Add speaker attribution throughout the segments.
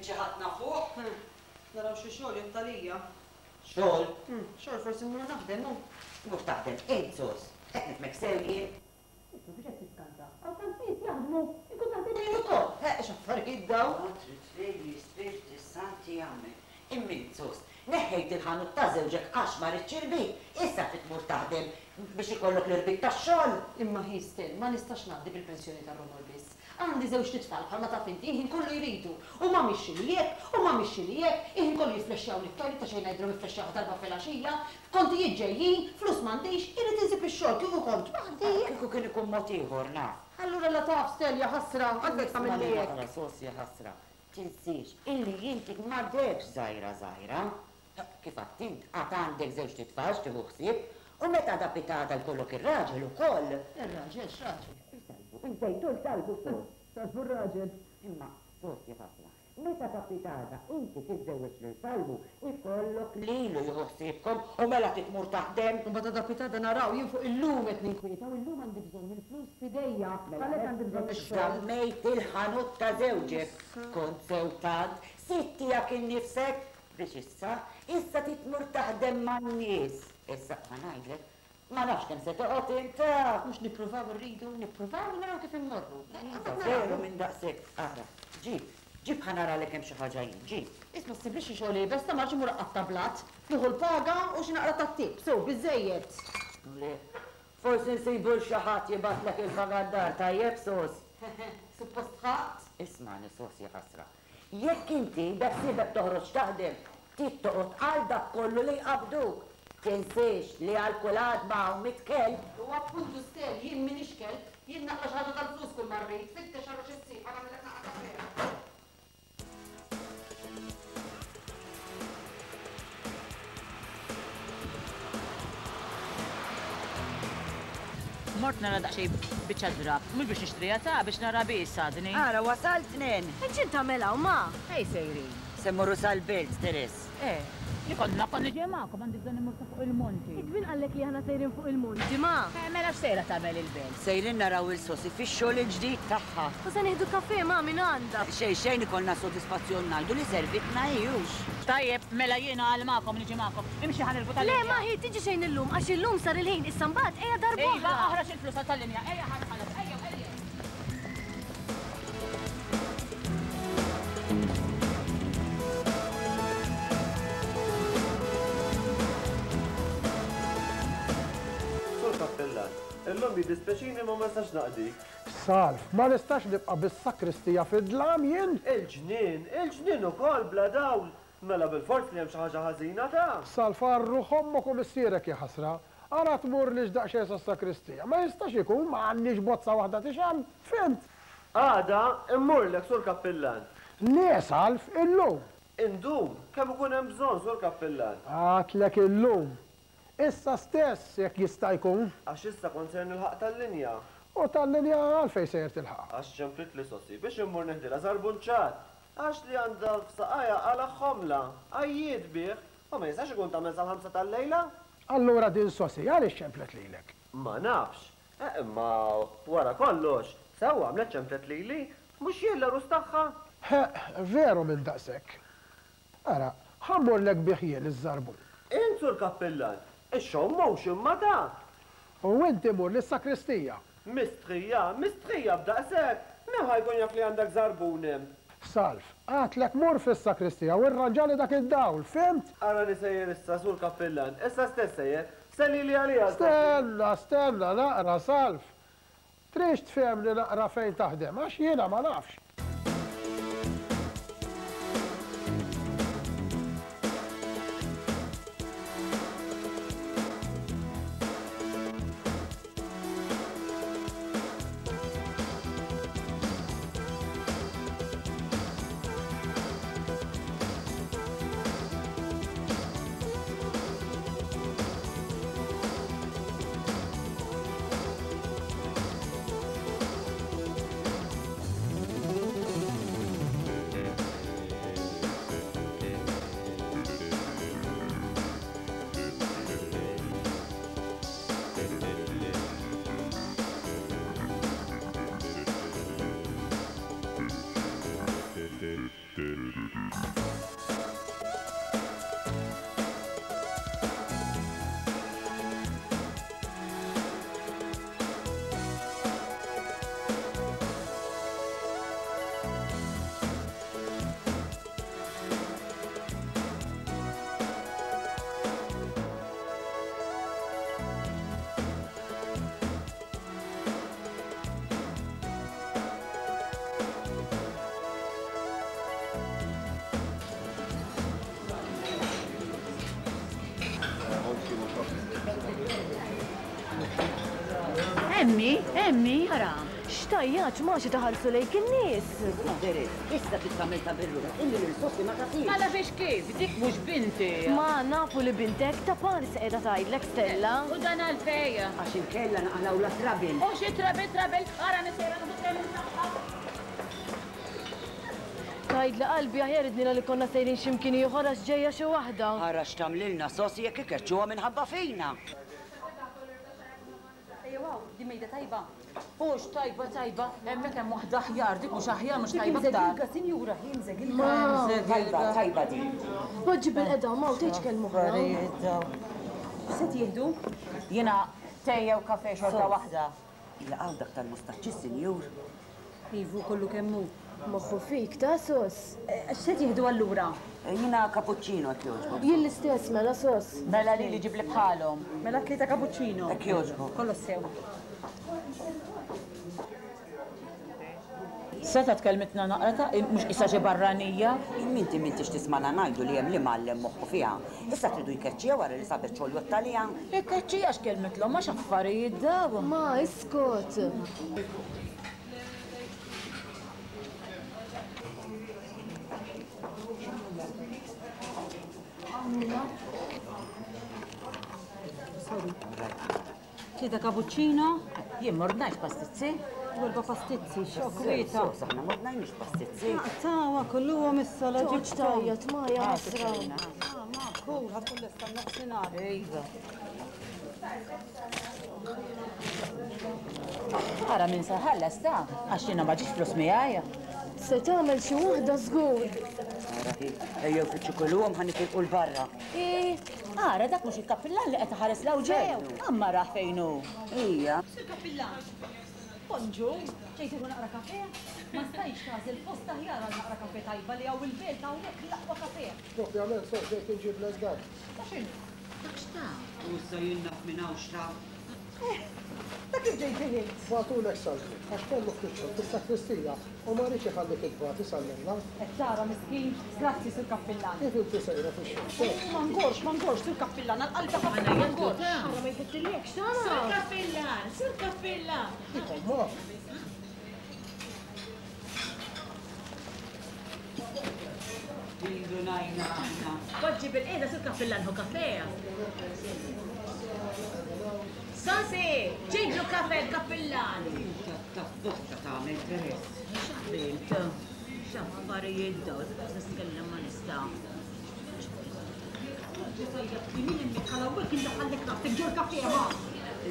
Speaker 1: Lil xi ħadd nafuh?
Speaker 2: Naraw xi xogħol jgħodd għalija.
Speaker 1: Xogħol?
Speaker 2: Xogħol forsi mmur naħdem hu.
Speaker 1: Tmur taħdem int, Sos? Qed nifhmek sew jien?
Speaker 2: Isma' biex qed tiskanta. Hawn tant nies jaħdmu, inkun naħdem jien ukoll.
Speaker 1: Ħeqq x'affarijiet dawn! Ma trid lejli Spirti Santi jagħmel. Imma int, Sos, neħħejt il-ħanut ta' żewġek għax ma ridx irbit, issa trid tmur taħdem biex ikollok l-irbit tax-xogħol?
Speaker 2: Imma hi still, ma nistax ngħaddi bil-pensjoni tar-romol biss. Għandi żewġt itfal bħalma taf inti, il-ħin kollu jridu. U ma mhix x'inhi hekk, u ma mhix x'inhi hekk, il-ħin kollu jifflexxjawli t-toilet ta' xejn ngħidilhom ifflexxjawh darba filgħaxija. Kontijiet ġejjin, flus m'għandix, irrid insib ix-xogħol kieku kont waħdi.
Speaker 1: Kieku kien ikun mod ieħor, naf.
Speaker 2: Allura la taf, Stell, jaħasra, għalfejn tagħmilli
Speaker 1: Ismagħni
Speaker 2: hekk?
Speaker 1: naqra, sos, jaħasra. Tinsiex illi inti m'għadekx żgħira żgħira. Kif għedt int, għad għandek żewġt itfal x'tieħu ħsieb, u meta għada pitgħada jkollok ir-raġel ukoll.
Speaker 2: Ir-raġel? X'raġel?
Speaker 1: Il-salvu, il-bejt u l-salvu, sos.
Speaker 2: Salvu r-raġel.
Speaker 1: Imma, sos, ja ħasra, meta ta' pitgħada inti tiżżewweġ lil Salvu, ikollok lilu jieħu ħsiebkom u mela trid tmur taħdem.
Speaker 2: U mbagħad għada pitgħada naraw, jien fuq illum qed ninkwieta u illum għandi bżonn il-flus f'idejja, għalhekk għandi bżonn ix-xogħol.
Speaker 1: Żammejt il-ħanut ta' żewġek, kont sew tant, sid tiegħek innifsek, Biex issa, issa trid tmur taħdem man-nies. Issa, ħa ngħidlek, ma nafx kemm se toqgħod int.
Speaker 2: Mhux nippruvaw irridu, nippruvaw u naraw kif immorru.
Speaker 1: Iva, veru minn daqshekk. Ara, ġib, ġib ħa naralek hemm xi ħaġa jien, ġib.
Speaker 2: Isma' ssibli xi xogħol iebes, ta' marx immur aqatta' blat. Nieħu l-paga u xi naqra tat-tip, so, biżżejjed.
Speaker 1: Le, forsi nsibu 'l xi ħadd jibgħatlek il-paga d-dar, tajjeb, sos?
Speaker 2: Hehe, suppost ħadt.
Speaker 1: Ismagħni, sos, jaħasra. Jekk inti beħsiebek toħroġ taħdem, trid toqgħod għal dak kollu li jqabbduk. Tinsiex li għal kull għadma hawn mitt kelb.
Speaker 2: U appuntu Stell, jien m'iniex kelb, jien naqla' xi ħaġa tal-flus kull ma rrid. Fittex ara xi ssib, ħa nagħmillek naqra kafè.
Speaker 3: Mort nara daqsxejn biċċa drapp, mhux biex nixtriha ta' biex nara biss għadni.
Speaker 1: Ara wasalt nen!
Speaker 4: Int x'int tagħmel hawn, ma?
Speaker 3: Fejn sejrin?
Speaker 1: Se mmorru sal-belt, Teres.
Speaker 3: Eh, li kont naf kont niġi magħkom, għandi bżonn immur sa fuq il-monti.
Speaker 4: Int min qallek li aħna sejrin fuq il-monti, ma?
Speaker 3: Eh, mela x'sejra tagħmel il-belt?
Speaker 1: Sejrin naraw 'il Sosi fix-xogħol il-ġdid tagħha.
Speaker 4: U se nieħdu kafè, ma, minn għandha.
Speaker 1: Xejn xejn ikollna s-sodisfazzjon ngħidu li servitna hi, hux?
Speaker 3: Tajjeb, mela jiena għal magħkom niġi magħkom. Imxi ħa nirbu tal-linja.
Speaker 4: Le, ma hi tiġi xejn illum, għax illum sar il-ħin, issa mbagħad ejja darb'oħra.
Speaker 3: Iva, oħroġ il-flus għal tal-linja, ejja ħa nħallas, ejjew, ejjew.
Speaker 5: Sur Kappillan, illum jiddispjaċini imma ma nistax naqdik.
Speaker 6: Salv, ma nistax nibqa' bis-sakristija fid-dlam jien!
Speaker 5: Il-ġnien, il-ġnien ukoll bla dawl! Mela bilfors li hemm xi ħaġa ħażina ta'.
Speaker 6: Salv, għal ruħ ommok u missierek jaħasra! Ara tmurlix daqsxejn sas-sakristija. Ma jistax ikun, ma għandniex bozza waħda tixgħel! Fhimt?
Speaker 5: Għada mmurlek, Sur Kappillan.
Speaker 6: Le, Salv, illum!
Speaker 5: Indum kemm ikun hemm bżonn, Sur Kappillan.
Speaker 6: Għadtlek illum. Issa stess, jekk jista' jkun.
Speaker 5: Għax issa kont ser nilħaq tal-linja.
Speaker 6: U tal-linja għalfejn sejjer tilħaqha?
Speaker 5: Għax ċemplitli Sossi biex immur neħdilha żarbun ċatt. Għax li għandha f'saqajha qala' ħomla. Għajjiet bih. U ma jistax ikun tagħmel sal-ħamsa tal-lejla.
Speaker 6: Allura din Sossi għaliex ċemplet lilek?
Speaker 5: Ma nafx. Eh, imma wara kollox, sewwa għamlet ċemplet lili. Mhux jien l-għarus tagħha?
Speaker 6: Ħeqq, veru minn daqshekk. Ara, ħa mmurlek bih jien iż-żarbun.
Speaker 5: Int, Sur Kappillan, ix-xogħol mhux imma ta'.
Speaker 6: U inti mur lis-sakristija.
Speaker 5: Mistħija, mistħija b'daqshekk! Min ħa jkun jaf li għandek żarbun hemm?
Speaker 6: Salv, għadtlek mur fis-sakristija u rranġali dak id-dawl, fhimt?
Speaker 5: Arani sejjer issa, Sur Kappillan, issa stess sejjer. Sellili għaliha s-Sossi.
Speaker 6: Stenna, stenna naqra, Salv. Tridx tfehemni naqra fejn taħdem, għax jiena ma nafx.
Speaker 3: Emmi, emmi, ara.
Speaker 4: X'tajjaġ ma xi taħarsu lejk in-nies.
Speaker 1: Teres, issa trid tagħmel ta' birruħek illi lil Sofi ma tafhiex.
Speaker 3: Ma nafhiex kif, dik mhux binti.
Speaker 4: Ma nafu li bintek ta' par se qiegħda tgħidlek Stella.
Speaker 3: U dan għalfejn?
Speaker 1: Għax inkella naqalgħulha trouble.
Speaker 3: U xi trouble trouble, ara nisejra nieħu training tagħha.
Speaker 4: Tgħidli qalbi aħjar idnina li konna sejrin xi mkien ieħor għax ġejja xi waħda.
Speaker 1: Ara x'tagħmlilna Sosi jekk ikeċċuha minħabba fina.
Speaker 2: Ejjew hawn, din mejda tajba.
Speaker 3: Hux tajba tajba, hemmhekk hemm waħda aħjar, dik mhux aħjar mhux tajba aktar.
Speaker 2: Imżegilga, sinjura, hi mżegilga.
Speaker 1: Tajba, tajba din.
Speaker 4: Poġġi bilqiegħda ma u tgħidx kelma oħra.
Speaker 2: X'se tieħdu?
Speaker 3: Jiena te jew kafe xorta waħda.
Speaker 1: Ilaqgħu dak tal-mustaċċi sinjur.
Speaker 2: Ivu kollu kemm hu.
Speaker 4: Moħħu fik ta' sos.
Speaker 2: X'se tieħdu allura?
Speaker 1: Jiena cappuccino hekk jogħġbok.
Speaker 4: Jien l-istess mela sos.
Speaker 3: Mela lili ġibli bħalhom.
Speaker 2: Mela tlieta cappuccino.
Speaker 1: Hekk jogħġbok.
Speaker 2: Kollox sew.
Speaker 3: Setgħet kellmitna naqra ta' mhux qisha xi barranija.
Speaker 1: Imma inti m'intix tismagħna ngħidu li hemm l-imgħallem moħħu fiha. Issa tridu jkeċċiha wara li sabet xogħol jgħodd għaliha.
Speaker 3: Ikkeċċiha x'kellmitlhom ma x'affarijiet dawn.
Speaker 4: Ma iskot.
Speaker 2: Sorry. Tlieta cappuccino.
Speaker 3: Jien m'ordnajtx pastizzi.
Speaker 2: U erba' pastizzi, xokk wieta.
Speaker 1: Sos, aħna m'ordnajniex pastizzi.
Speaker 2: Tawa kulluhom issa la
Speaker 4: Toqgħodx
Speaker 2: ġibthom.
Speaker 4: tgħajjat ma ja ħasra.
Speaker 2: Ma kul ħa tkun lesta nofsinhar.
Speaker 3: Iva. Ara min se ħallas ta' għax jiena ma ġiex flus miegħi.
Speaker 4: Se tagħmel xi waħda żgur.
Speaker 1: Ara hi, ejjew fittxu kulluhom ħa nitilqu 'l barra.
Speaker 3: Eh, ara dak mhux il-kappillan li qed iħares 'l hawn ġew. Amma rah fejn hu.
Speaker 1: Ija.
Speaker 2: Sur kappillan. Bonġu, ġejt tieħu naqra kafe? Ma stajtx tagħżel post aħjar għal naqra kafe tajba li hawn il-belt hawnhekk l-aqwa kafe.
Speaker 6: Propjament sos ġejt inġiblek dak.
Speaker 2: Ta' x'inhu?
Speaker 3: Dak x'ta?
Speaker 1: U issa jien naf minn hawn x'ta?
Speaker 2: Ta' kif ġejt bih int?
Speaker 6: Bagħtulek Salvi, għax kellu ftit xogħol fis-sakristija u ma riedx iħallik itbati sal-lejla.
Speaker 2: Qed tara miskin, grazzi Sur Kappillan.
Speaker 6: Kif inti sejra fix-xogħol sos?
Speaker 2: Ma ngorx, ma ngorx Sur Kappillan, għal qalbi ħafna ma ngorx.
Speaker 4: Ara ma jħettillekx tara.
Speaker 3: Sur Kappillan, Sur Kappillan.
Speaker 6: Dik ommok.
Speaker 1: Indunajna aħna.
Speaker 3: Poġġi bil-qiegħda Sur Kappillan ħu kafe. Sosi, ġiblu kafe l-kappillan.
Speaker 1: Ta' botta tagħmel Teres.
Speaker 3: X'għamilt? X'affarijiet dawn, qas nitkellem ma nista'.
Speaker 2: Min immiħħala u hekk indaħħallek rasek ġol kafe ma.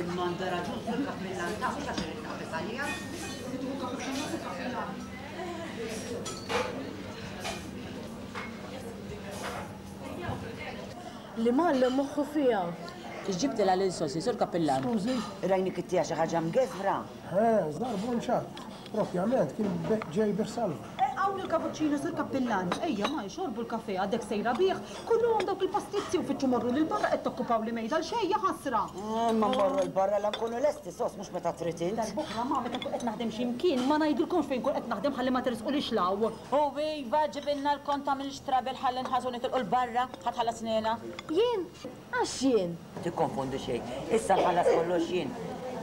Speaker 1: Imma għandha raġun Sur Kappillan ta' mhux għax irid naqbeż għaliha.
Speaker 4: Li mgħallem moħħu fiha.
Speaker 3: Ġibtilha lil Sosi, Sur Kappillan.
Speaker 6: Skużi?
Speaker 1: Rajni kittiha xi ħaġa mgeżwra.
Speaker 6: Eh, żarbun ċatt. Propjament kien ġej bih Salvu.
Speaker 2: Hawn il-cappuccino Sur Kappillan. Ejja ma jxorbu l-kafe għadek sejra bih. Kulluhom dawk il-pastizzi u fittxu morru lil barra qed tokkupaw li mejda l xejn ja ħasra.
Speaker 1: Ma mmorru 'l barra la nkunu lesti sos mhux meta trid int.
Speaker 2: Darb'oħra ma meta nkun qed naħdem xi mkien ma ngħidilkomx fejn nkun qed naħdem ħalli ma tersqulix 'l hawn.
Speaker 3: U iva ġibilna l-kont tagħmilx trouble ħalli nħallsu nitilqu 'l barra ħa tħallas nena.
Speaker 4: Jien? Għax jien?
Speaker 1: Tikkonfondi xejn. Issa nħallas kollox jien.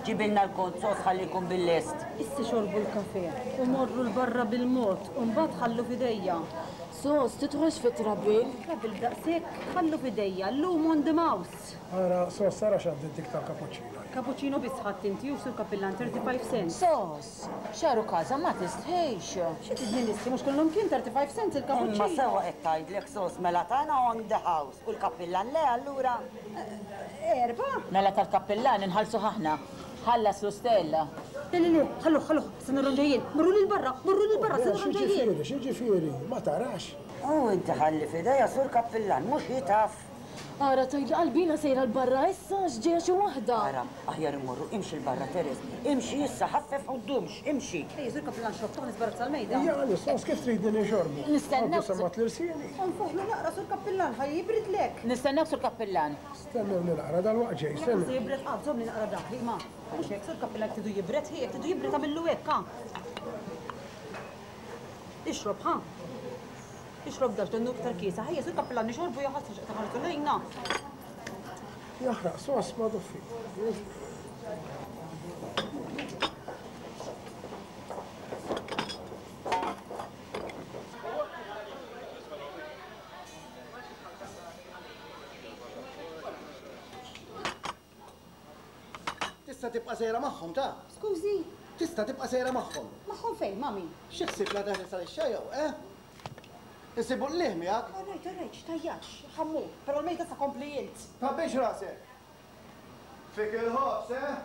Speaker 1: Ġibilna l-kont sos ħalli jkun bil-lest.
Speaker 2: Issa xorbu l-kafe u morru 'l barra bil-mod u mbagħad ħallu f'idejja.
Speaker 4: Sos, tidħolx fi trouble.
Speaker 2: Trouble daqshekk, ħallu f'idejja, llum on the mouse.
Speaker 6: Ara, sos, ara x'għaddiet dik tal-cappuccino.
Speaker 2: Cappuccino biss ħadt inti u Sur Kappillan 35 cents.
Speaker 3: Sos, xaru każa ma tistħix.
Speaker 2: Xi tridni nistħi mhux kollhom kien 35 cents il-cappuccino.
Speaker 1: Imma sewwa qed tgħidlek sos mela tagħna on the house u l-kappillan le allura.
Speaker 2: Erba'?
Speaker 3: Mela tal-kappillan inħallsuh aħna. Ħallas lu Stella.
Speaker 2: Le le le, ħalluh ħalluh, se narhom ġejjin. Morru lil barra, morru lil barra, se narhom ġejjin.
Speaker 6: X'jiġifieri, x'jiġifieri, ma tarax?
Speaker 1: U inti ħalli f'idejha Sur Kappillan, mhux hi taf.
Speaker 4: Ara tgħidli qalbina sejra 'l barra issa għax ġejja xi waħda.
Speaker 1: Ara, aħjar immorru, imxi 'l barra Teres, imxi issa, ħaffef u ddumx, imxi.
Speaker 2: Ejja Sur Kappillan xrob, toħ nisbarazza l-mejda.
Speaker 6: Hija għaliex, sos kif tridni nixorbu?
Speaker 3: Nistennew.
Speaker 6: Għadu semgħet l-irsieni.
Speaker 2: Onfoħlu naqra Sur Kappillan ħa jibridlek.
Speaker 3: Nistennew Sur Kappillan.
Speaker 6: Stennewni naqra dal-waqt ġej,
Speaker 2: stennew. Se jibred qatt, żommni naqra dahri, ma. Mhux hekk, Sur Kappillan jekk tridu jibred, hi, jekk tridu jibred agħmillu hekk, ha. Ixrob, ha. Ixrob dax donnu iktar kiesaħ. Ejja, Sur Kappillan nixorbu ja ħasra x'qed iħarsu lejna.
Speaker 6: Jaħraq sos ma duffi.
Speaker 7: Tista' tibqa' sejra magħhom, ta?
Speaker 2: Skużi?
Speaker 7: Tista' tibqa' sejra magħhom.
Speaker 2: Magħhom fejn, ma' min?
Speaker 7: Xi ħsieb la teħles għal ix-xejn, eh? Insibu qligħ miegħek.
Speaker 2: All right, all right, x'tgħajjatx. Ħa mmur, però l-mejda sa kompli int.
Speaker 7: Tgħabbix rasek. Fik il-ħobż, eh?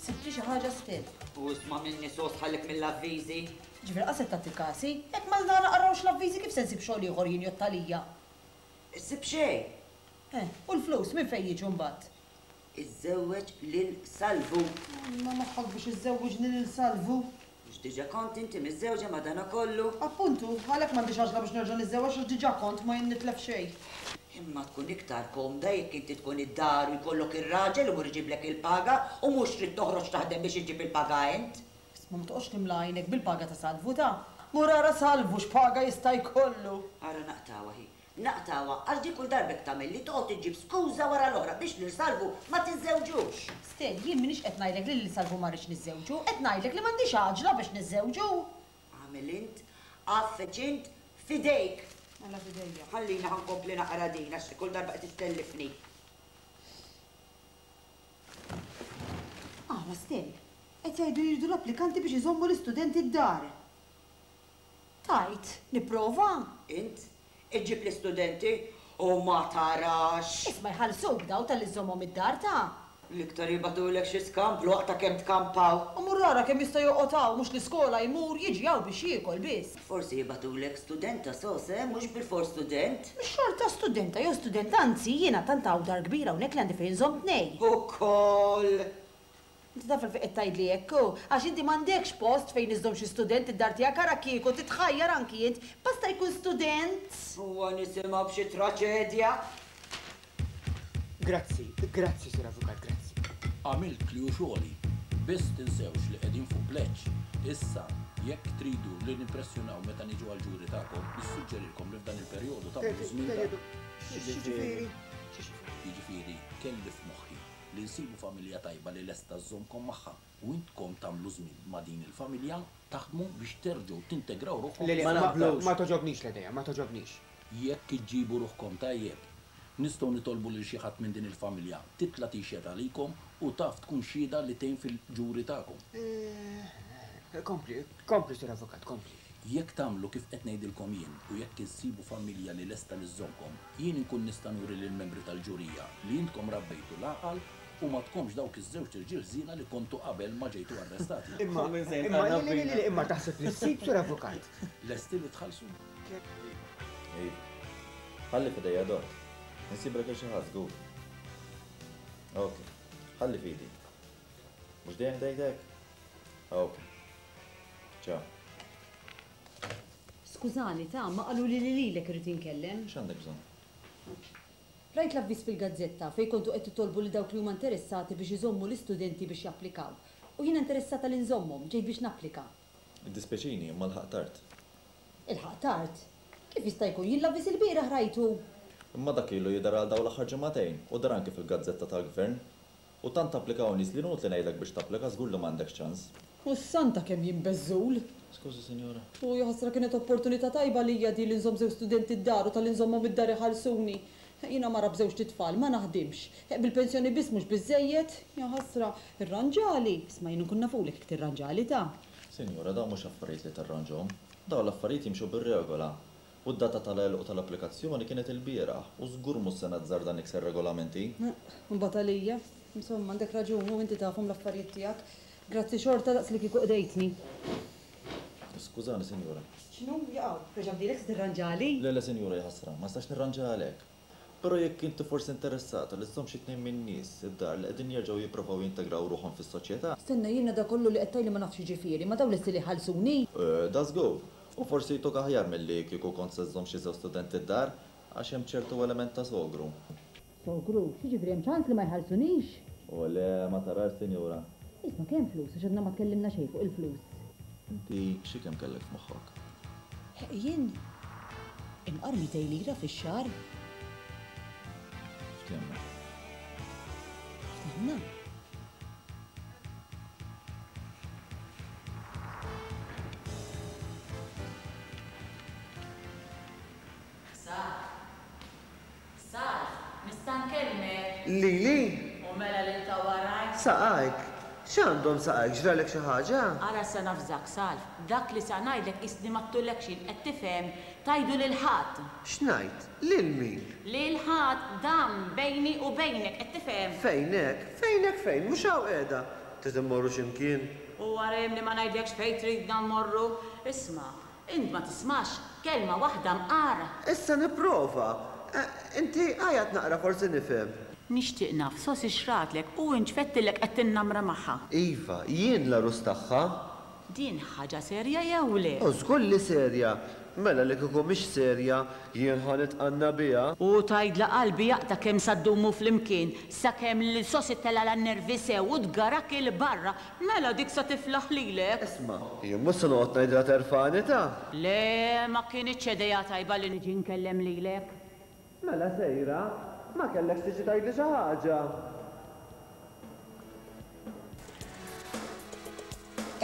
Speaker 2: Sibtli xi ħaġa still.
Speaker 1: U isma' minni sos ħallik mill-avviżi.
Speaker 2: Ġifieri qas qed tagħti kasi? Jekk ma naqrawx l-avviżi kif se nsib xogħol ieħor jien jgħodd għalija?
Speaker 1: Issib xejn.
Speaker 2: Eh, u l-flus minn fejn jiġu mbagħad?
Speaker 1: Iżżewweġ lil Salvu.
Speaker 2: Alla moħħok biex iżżewwiġni lil Salvu.
Speaker 1: Mhux diġà kont inti miżżewġa madanakollu?
Speaker 2: Appuntu, għalhekk m'għandix għaġla biex nerġa' niżżewweġ għax diġà kont ma jien nitlef xejn.
Speaker 1: Imma tkun iktar komda jekk inti tkun id-dar u jkollok ir-raġel imur iġiblek il-paga u mhux trid toħroġ taħdem biex iġġib il-paga int.
Speaker 2: Isma' ma toqgħodx timla għajnek bil-paga ta' Salvu ta'. Mur ara Salvu x'paga jista' jkollu!
Speaker 1: Ara naqtgħuha hi. Naqtgħuha għax dik kull darba hekk tagħmilli, toqgħod iġġib skuża wara l-oħra biex lil Salvu ma tiżżewġux.
Speaker 2: Stell, jien m'iniex qed ngħidlek li lil Salvu ma rridx niżżewġu, qed ngħidlek li m'għandix għaġla biex niżżewġu.
Speaker 1: Agħmel int, għaffeġ int, f'idejk.
Speaker 2: Mela f'idejja.
Speaker 1: Ħallini ħa nkompli naqra din għax kull darba qed ittellifni.
Speaker 2: Ara Stell, qed jgħidu li jridu l-applikanti biex iżommu l-istudenti d-dar. Tgħid nipprova?
Speaker 1: Int iġġib l-istudenti u ma tarax!
Speaker 2: Isma' jħallsuk daw talli żżommhom id-dar ta'.
Speaker 1: L-iktar jibagħtulek xi skamplu waqt ta' kemm tkampaw.
Speaker 2: U mur ara kemm jista' joqgħod hawn mhux l-iskola jmur jiġi hawn biex jiekol biss.
Speaker 1: Forsi jibagħtulek studenta sos eh, mhux bilfors student.
Speaker 2: Mhux xorta studenta jew student anzi jiena tant hawn dar kbira hawnhekk li għandi fejn inżomm tnejn.
Speaker 1: Ukoll!
Speaker 2: Inti taf għalfejn qed tgħidli hekk, hu? Għax inti m'għandekx post fejn iżżomm xi student id-dar tiegħek, ara kieku titħajjar anki int, basta jkun student!
Speaker 1: Huwa nisimgħu b'xi traċedja.
Speaker 8: Grazzi, grazzi, Sur Avukat, grazzi.
Speaker 9: Għamilt li hu xogħli. Biss tinsewx li qegħdin fuq pleġġ. Issa. Jekk tridu li nimpressjonaw meta niġu għall-ġuri tagħkom, nissuġġerilkom li f'dan il-perjodu tagħmlu żmien ta'.
Speaker 8: X'jiġifieri?
Speaker 9: Jiġifieri, kelli f'moħħi li nsibu familja tajba li lesta żżommkom magħha u intkom tagħmlu żmien ma' din il-familja taħdmu biex terġgħu tintegraw ruħkom
Speaker 8: Le, le, ma togħġobnix l-idea, ma togħġobnix.
Speaker 9: Jekk iġġibu ruħkom tajjeb, nistgħu nitolbu lil xi ħadd minn din il-familja titla' tixhed għalikom u taf tkun xhieda li tgħin fil-ġuri tagħkom.
Speaker 8: Kompli, kompli, Sur Avukat, kompli.
Speaker 9: Jekk tagħmlu kif qed ngħidilkom jien u jekk issibu familja li lesta li żżommkom, jien inkun nista' nuri lill-membri tal-ġurija li intkom rabbejtu l-għaqal u ma tkomx dawk iż-żewġt irġiel ħżiena li kontu qabel ma ġejtu arrestati.
Speaker 8: Imma, imma, le, le, le, le, imma taħseb li ssib, Sur Avukat?
Speaker 9: Lesti li tħallsu?
Speaker 10: Iva. Ħalli f'idejja Dott. Insiblek lil xi ħadd żgur. Ok. Ħalli f'idi. Mhux dejjem tgħid hekk? Ok. Ciao.
Speaker 2: Skużani, ta, ma qaluli li lilek irrid inkellem.
Speaker 10: X'għandek bżonn?
Speaker 2: Rajt l-avviż fil-gazzetta fejn kontu qed titolbu lil dawk li huma interessati biex iżommu l-istudenti biex japplikaw. U jiena interessata li nżommhom, ġejt biex napplika.
Speaker 10: Iddispjaċini, imma lħaqt tard.
Speaker 2: Ilħaqt tard? Kif jista' jkun? Jien l-avviż ilbieraħ rajtu!
Speaker 10: Imma dak ilu jidher għal dawn l-aħħar ġimagħtejn u deher anki fil-gazzetta tal-Gvern. U tant applikaw nies li inutli ngħidlek biex tapplika żgur li m'għandekx ċans.
Speaker 2: U s-santa kemm jien beżżul!
Speaker 10: Skużi sinjura.
Speaker 2: U jaħasra kienet opportunità tajba għalija din li nżomm żewġ studenti d-dar u talli nżommhom id-dar iħallsuni. Jiena mara b'żewġt itfal, ma naħdimx. Bil-pensjoni biss mhux biżżejjed. Jaħasra, irranġali! Isma' jien inkun nafulek jekk tirranġali ta.
Speaker 10: Sinjura, dawn mhux affarijiet li tirranġhom. Dawn l-affarijiet jimxu bir-regola. U d-data tal-għeluq tal-applikazzjoni kienet ilbieraħ u żgur mhux se nazzarda nikser regolamenti.
Speaker 2: Imbagħad għalija. Insomma, għandek raġun u inti tafhom l-affarijiet tiegħek. Grazzi xorta daqs li kieku qdejtni.
Speaker 10: Skużani, sinjura.
Speaker 2: X'inhu? Jaqaw, reġa' bdielek se tirranġali?
Speaker 10: Le, le, sinjura, jaħasra, ma nistax nirranġalek. Però jekk inti forsi interessata li żżomm xi tnejn min-nies id-dar li qegħdin jerġgħu jipprovaw jintegraw ruħhom fis-soċjetà.
Speaker 2: Stenna, jiena dak kollu li qed tgħidli ma nafx x'jiġifieri, ma dawn lesti li jħallsuni?
Speaker 10: Eh, da żgur. U forsi jtuk aħjar milli kieku kont se żżomm xi żewġ studenti d-dar, għax hemm ċertu element ta' sogru.
Speaker 2: Sogru? X'jiġifieri hemm ċans li ma jħallsunix?
Speaker 10: O le, ma tarax, sinjura.
Speaker 2: Isma' kemm flus, għax għadna ma tkellimna xejn fuq il-flus.
Speaker 10: Inti xi kemm kellek f'moħħok?
Speaker 2: Jien? Imqar 200 lira fix-xahar.
Speaker 10: Ftehemna.
Speaker 2: Ftehemna?
Speaker 3: Sar. Sar, nista' nkellmek?
Speaker 5: Lili?
Speaker 3: U mela lil ta' warajk?
Speaker 5: Saqajk? X'għandhom saqajk? Ġralek xi ħaġa?
Speaker 3: Ara se nafżak, Salv, dak li sa ngħidlek qisni ma għedtulekx jien, qed tifhem? Tgħidu lil ħadd!
Speaker 5: X'ngħid? Lil min?
Speaker 3: Lil ħadd, dan bejni u bejnek, qed tifhem?
Speaker 5: Fejnek? Fejnek fejn? Mhux hawn qiegħda. Trid immorru xi mkien?
Speaker 3: U ara jien li ma ngħidlekx fejn tridna mmorru. Isma', Int ma tismax kelma waħda mqar.
Speaker 5: Issa nipprova. Inti għajat naqra forsi nifhem.
Speaker 3: Nixtieq naf Sosi x'ratlek u int x'fettilek qed tinnamra magħha.
Speaker 5: Iva, jien l-għarus tagħha.
Speaker 3: Din ħaġa serja jew le?
Speaker 5: U żgur li serja. Mela li kieku mhix serja, jien ħa nitqanna biha.
Speaker 3: U tgħidla qalbi jaqta' kemm sa ddumu flimkien, sakemm lil Sosi tellgħalha n-nervi sew u tgarak 'il barra Mela dik sa tiflaħ lilek.
Speaker 5: Isma', jien mhux se noqgħod ngħidilha terfagħni ta'.
Speaker 3: Le, ma kinitx idea tajba li niġi nkellem lilek.
Speaker 5: Mela sejra, ma kellekx tiġi tgħidli xi ħaġa?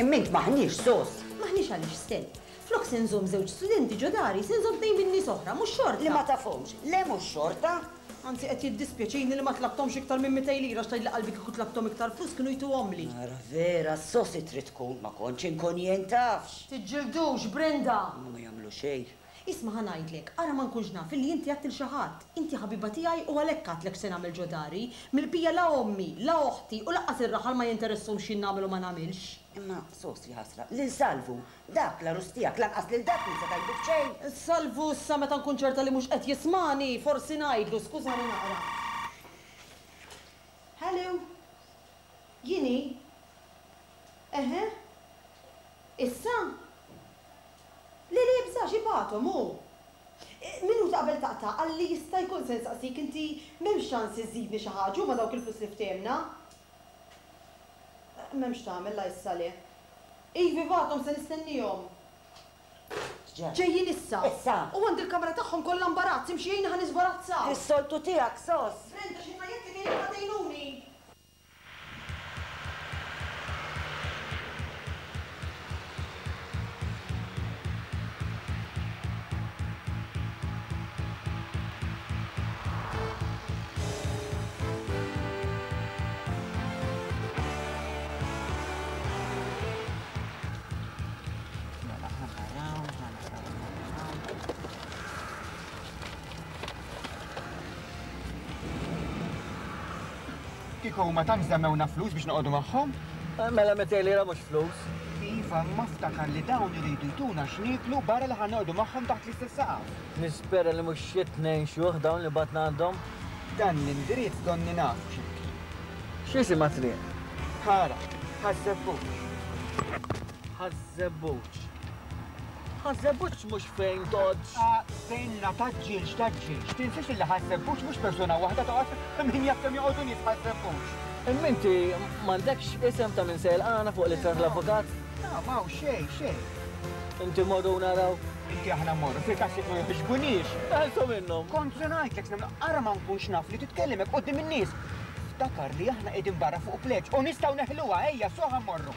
Speaker 1: Imma int m'aħniex sos.
Speaker 2: M'aħniex għaliex, Stell. Flok se nżomm żewġ studenti ġo dari, se nżomm tnejn minn nies oħra, mhux xorta!
Speaker 1: Li ma tafhomx. Le mhux xorta!
Speaker 2: Anzi qed jiddispjaċini li ma tlabthomx iktar minn 200 lira għax tgħidli qalbi kieku tlabthom iktar flus kienu jtuhomli.
Speaker 1: Ara vera, sosi trid tkun, ma kontx inkun jien tafx!
Speaker 2: Tiġġildux, Brenda!
Speaker 1: Imma ma jagħmlu xejn.
Speaker 2: Isma' ħa ngħidlek, ara ma nkunx naf illi inti għedt 'il xi ħadd. Inti ħabiba tiegħi u għalhekk għedtlek x'se nagħmel ġo dari. Mill-bqija la ommi, la oħti u lanqas ir-raħal ma jinteressahom x'jien nagħmel u ma nagħmilx.
Speaker 1: Imma sos jaħasra, lil Salvu, dak l-għarus tiegħek lanqas lil dak mhi se tgħidlu b'xejn.
Speaker 2: Salvu issa meta nkun ċerta li mhux qed jismagħni, forsi ngħidlu, skużani naqra. Hello. Jien hi? Eħe. Issa? Le le ibżax ibgħathom hu. Minuta qabel taqta' qalli jista' jkun se nsaqsik inti m'hemmx ċans iżżidni xi ħaġa huma dawk il-flus li ftehemna? M'hemmx tagħmel la issa le. Ivi bagħthom se nistennihom. Ġejjin issa.
Speaker 1: Issa.
Speaker 2: U għandi l-kamra tagħhom kollha mbarazz, imxi għinni ħa niżbarazzaw.
Speaker 1: Is-soltu tiegħek, Sos.
Speaker 2: Brenda xi ngħidlek għinni ħa tgħinuni.
Speaker 8: Mela, ħa naraw, ħa naraw, ħa naraw.
Speaker 11: Kieku huma tant żammewna flus biex noqogħdu magħhom.
Speaker 5: Mela 200 lira mhux flus.
Speaker 11: Iva, imma ftakar li dawn iridu jtuna x'nieklu barra li ħa noqogħdu magħhom taħt l-istess saqaf.
Speaker 5: Nispera li mhux xi tnejn xjuħ dawn li bgħatna għandhom.
Speaker 11: Dan l-indirizz donni nafu x'imkien.
Speaker 5: X'jisimha t-triq?
Speaker 11: Ara, Ħaż-Żebbuġ.
Speaker 5: Ħaż-Żebbuġ. Ħaż-Żebbuġ mhux fejn toqgħodx.
Speaker 11: Ah, stenna, tgħaġġilx, tgħaġġilx. Tinsiex illi Ħaż-Żebbuġ mhux persuna waħda toqgħod, min jaf kemm joqogħdu nies Ħaż-Żebbuġ.
Speaker 5: Imma inti m'għandekx isem ta' min se jilqagħna fuq l-ittra tal-avukat?
Speaker 11: La, m'hawn xejn, xejn.
Speaker 5: Inti mmorru u naraw.
Speaker 11: Inti aħna mmorru, fil-każ jekk ma jogħġbuniex.
Speaker 5: Neħilsu minnhom.
Speaker 11: Kont se ngħidlek x'nagħmlu, ara ma nkunx naf li titkellem hekk quddiem in-nies. Ftakar li aħna qegħdin barra fuq pleġġ u nistgħu neħluha, ejja, su ħa mmorru.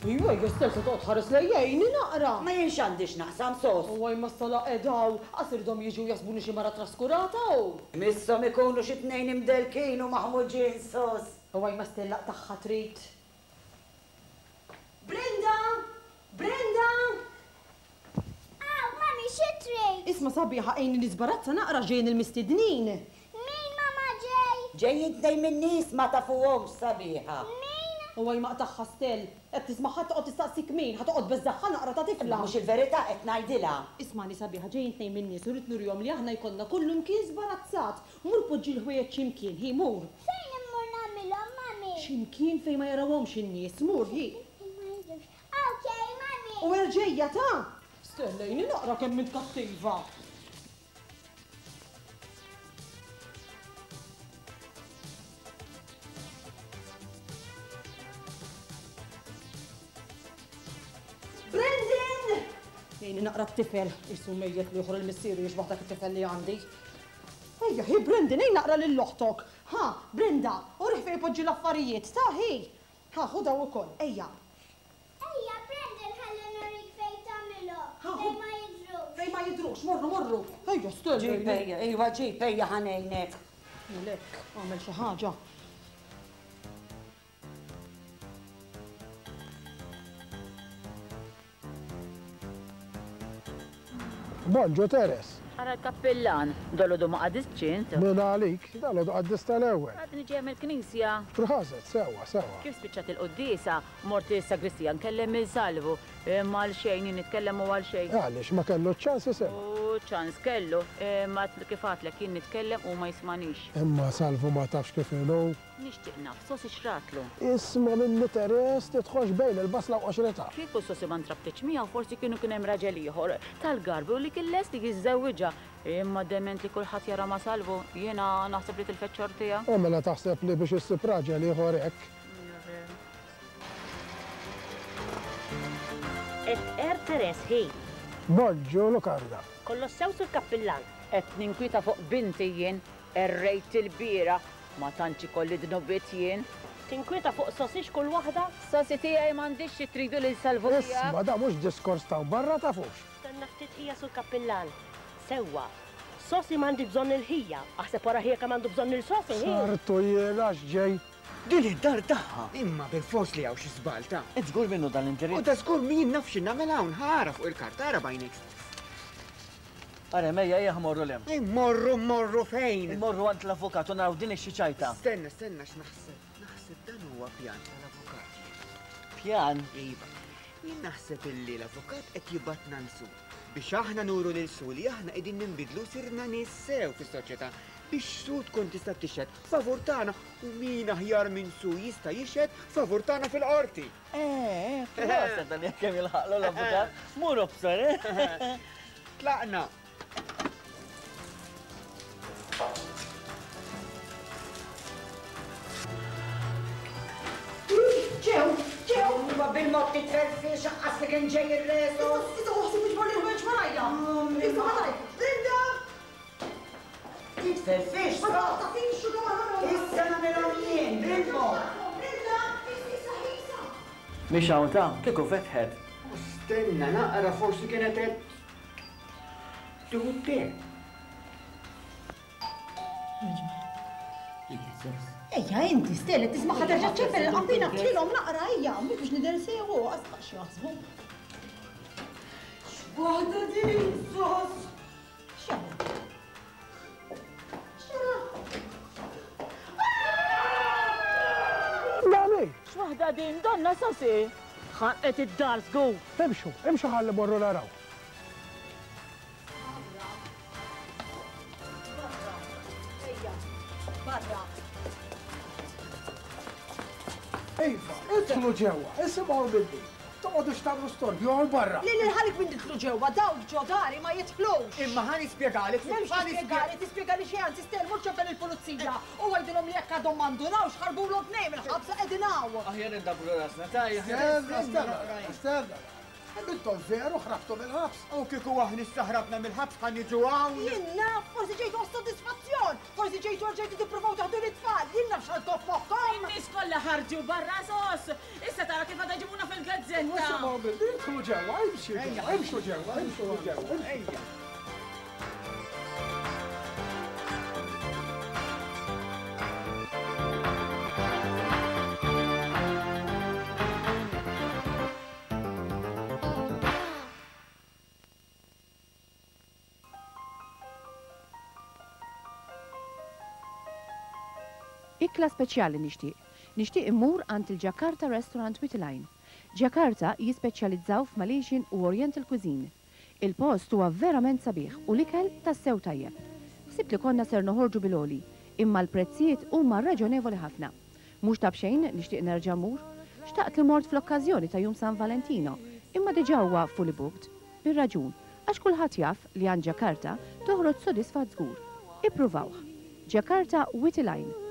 Speaker 2: Iwa, jgħu stess se toqgħod tħares lejja għini naqra.
Speaker 1: Ma jien x'għandi x'naqsam, sos.
Speaker 2: Huwa imma s-sala qiegħda hawn, qas iridhom jiġu jaħsbuni xi mara traskurata u.
Speaker 1: Misshom ikunu xi tnejn imdellkin u maħmuġin, sos.
Speaker 2: Huwa imma stella tagħha trid. Brenda! Brenda!
Speaker 12: Aw, mami, xi trid?
Speaker 2: Isma' sabiħa għinni niżbarazza naqra ġejjin il-mistednin.
Speaker 12: Min, mama, ġej?
Speaker 1: Ġejjin tnejn min-nies ma tafuhomx, sabiħa.
Speaker 12: Min?
Speaker 2: Huwa imma qtagħha Stell. Qed tismagħha toqgħod tistaqsik min, ħa toqgħod tbeżżagħha naqra ta' tifla.
Speaker 1: Imma mhux il-verità qed ngħidilha.
Speaker 2: Ismagħni sabiħa, ġejjin tnejn min-nies u rrid nurihom li aħna jkollna kullumkien żbarazzat. Mur poġġi l-ħwejjeġ xi mkien, hi, mur.
Speaker 12: Fejn immur nagħmilhom, mami?
Speaker 2: Xi mkien fejn ma jarawhomx in-nies, mur, hi.
Speaker 12: Fejn ma jidhrux. Ok, mami.
Speaker 2: U erġejja ta'! Stella, għini naqra kemm int kattiva. Brendan! Għini naqra t-tifel, isu mejjet li joħor il-missieru jixbaħ dak it-tifel li għandi. Ejja, hi Brendan, ejn naqra lil oħtok. Ha, Brenda, urih fejn ipoġġi l-affarijiet, ta' hi. Ha, ħu daw ukoll, ejja.
Speaker 12: Ejja, Brendan ħalli nurik fejn tagħmilhom, fejn ma jidhrux.
Speaker 2: Fejn ma jidhrux, morru, morru. Ejja, Stella.
Speaker 1: Ġib ejja, iva ġib ejja ħa ngħinek.
Speaker 2: Għalhekk, agħmel xi ħaġa.
Speaker 6: Bonġu Teres.
Speaker 3: Ara l-kappillan, dolodu ma qadistx int.
Speaker 6: Min għalik, dalodu qaddist tal-ewwel.
Speaker 3: Għadni ġejja mill-knisja.
Speaker 6: Proset, sewwa, sewwa.
Speaker 3: Kif spiċċat il-quddiesa, mort is-sagristija nkellem lil Salvu. Imma għal xejn, jien nitkellem u għal xejn.
Speaker 6: Għaliex, ma kellu ċ-ċans jisimgħek?
Speaker 3: U ċans kellu, imma kif għadtlek jien nitkellem u ma jismagħnix.
Speaker 6: Imma Salvu ma tafx kif inhu.
Speaker 3: Nixtieq naf Sosi x'ratlu.
Speaker 6: Isma' minni Teres, tidħolx bejn il-basla u qoxritha.
Speaker 3: Kieku Sosi ma ntrabtitx miegħu forsi kienu kien hemm raġel ieħor tal-garbi u li kien lest li jiżżewwiġha. Imma dement li kulħadd jara ma' Salvu, jiena naħseb li tilfet xortiha.
Speaker 6: U mela taħseb li biex issib raġel ieħor hekk.
Speaker 13: Qed tqerr Teres, hi.
Speaker 6: Bonġu Lukarda.
Speaker 13: Kollox sew sur kappillan.
Speaker 3: Qed ninkwieta fuq binti jien, qerrejt ilbieraħ. Ma tantx ikolli dnubiet jien.
Speaker 13: Tinkwieta fuq sosix kull waħda?
Speaker 3: Sosi tiegħi m'għandix xi tridu lil Salvu tiegħek.
Speaker 6: Isma' da mhux diskors t'hawn barra tafux.
Speaker 13: Stenna ftit ħija sur kappillan. Sewwa. Sosi m'għandhiex bżonn il-ħija. Aħseb wara ħija kemm għandu bżonn lil Sosi, hi.
Speaker 6: Sartu jien għax ġej.
Speaker 8: Din id-dar tagħha.
Speaker 11: Imma bilfors li hawn xi żball ta'.
Speaker 5: Int żgur minnu dan l-indirizz?
Speaker 11: U da żgur min jien naf xi nagħmel hawn, ħa ara fuq il-karta, ara b'għajnejk stess.
Speaker 5: Arem, ejja, ejja ħa mmorru 'l hemm.
Speaker 11: Immorru, mmorru fejn?
Speaker 5: Immorru għand l-avukat u naraw din hi xi ċajta.
Speaker 11: Stenna, stenna x'naħseb. Naħseb dan huwa pjan tal-avukat jien.
Speaker 5: Pjan?
Speaker 11: Iva. Jien naħseb illi l-avukat qed jibgħatna nsu biex aħna nuru lil Su li aħna qegħdin ninbidlu u sirna nies sew fis-soċjetà. Biex Sue tkun tista' tixhed favur tagħna u min aħjar minn Sue jista' jixhed favur tagħna fil-qorti.
Speaker 14: Eh, eh, proset għal jekk kemm jilħaqlu l-avukat. Mur obsor, eh?
Speaker 11: Tlaqna.
Speaker 2: Ġew, ġew!
Speaker 1: Huwa bil-mod titferfix aqqas li kien ġej ir-resu.
Speaker 2: Issa ħsieb iġbor li ħwejjeġ warajja. Issa malaj. Linda!
Speaker 1: Titferfix,
Speaker 2: Ma taqtafix xu
Speaker 1: Issa nagħmilhom jien bil-mod.
Speaker 2: Linda, issa issa.
Speaker 14: Mhix hawn ta' kieku fetħet.
Speaker 11: Stenna naqra forsi kienet qed tieħu t-te.
Speaker 2: Ejja inti Stella tisma' terġa' ċempel il-qanpiena ftħilhom naqra ejja, mhux biex nidher sew għasqa x'jaħsbu. X'waħda din sos! X'jagħmel? X'jara?
Speaker 6: Mami!
Speaker 3: X'waħda din donna Sosi? Ħanqet id-dar żgur.
Speaker 6: Imxu, imxu ħalli morru naraw. Iva, idħlu ġewwa, isimgħu minni. Toqgħodux tagħmlu storbju hawn barra.
Speaker 2: Lil ħalik minn didħlu ġewwa, dawk ġo dari ma jidħlux.
Speaker 11: Imma ħa nispjegalek.
Speaker 2: M'hemmx tispjegali, tispjegali xejn, anzi Stel mur ċempel il-pulizija u għidilhom li jekk għadhom ma ndunawx ħarbulhom tnejn mill-ħabs qegħdin hawn.
Speaker 14: Aħjar indabbru rasna, tajja.
Speaker 6: Stenna, stenna, stenna. Intom veru ħrabtu mill-ħabs?
Speaker 11: U kieku aħna issa ħrabna mill-ħabs ħa niġu hawn?
Speaker 2: Jien naf, forsi ġejtu għas-sodisfazzjon, forsi ġejtu għal ġejtu tippruvaw taħdu lit-tfal, jien naf x'għandkom f'moħħkom!
Speaker 3: In-nies kollha ħarġu barra sos! Issa tara kif għadha jġibuna fil-gazzetta!
Speaker 6: Isimgħu minni, idħlu ġewwa, imxi ġewwa, imxu ġewwa, imxu ġewwa.
Speaker 11: Ejja.
Speaker 15: Ikla speċjali nixtieq. Nixtieq immur għand il-Jakarta Restaurant Witilgħin. Jakarta jispeċjalizzaw f'Malaysian u Oriental cuisine. Il-post huwa verament sabiħ u l-ikel tassew tajjeb. Ħsibt li konna ser noħorġu bil-għoli, imma l-prezzijiet huma raġonevoli ħafna. Mhux ta' b'xejn nixtieq nerġa' mmur. Xtaqt li mort fl-okkażjoni ta' Jum San Valentino, imma diġà huwa fully booked. Bir-raġun, għax kulħadd jaf li għand Jakarta toħroġ sodisfatt żgur. Ippruvawh. Jakarta Witilgħin.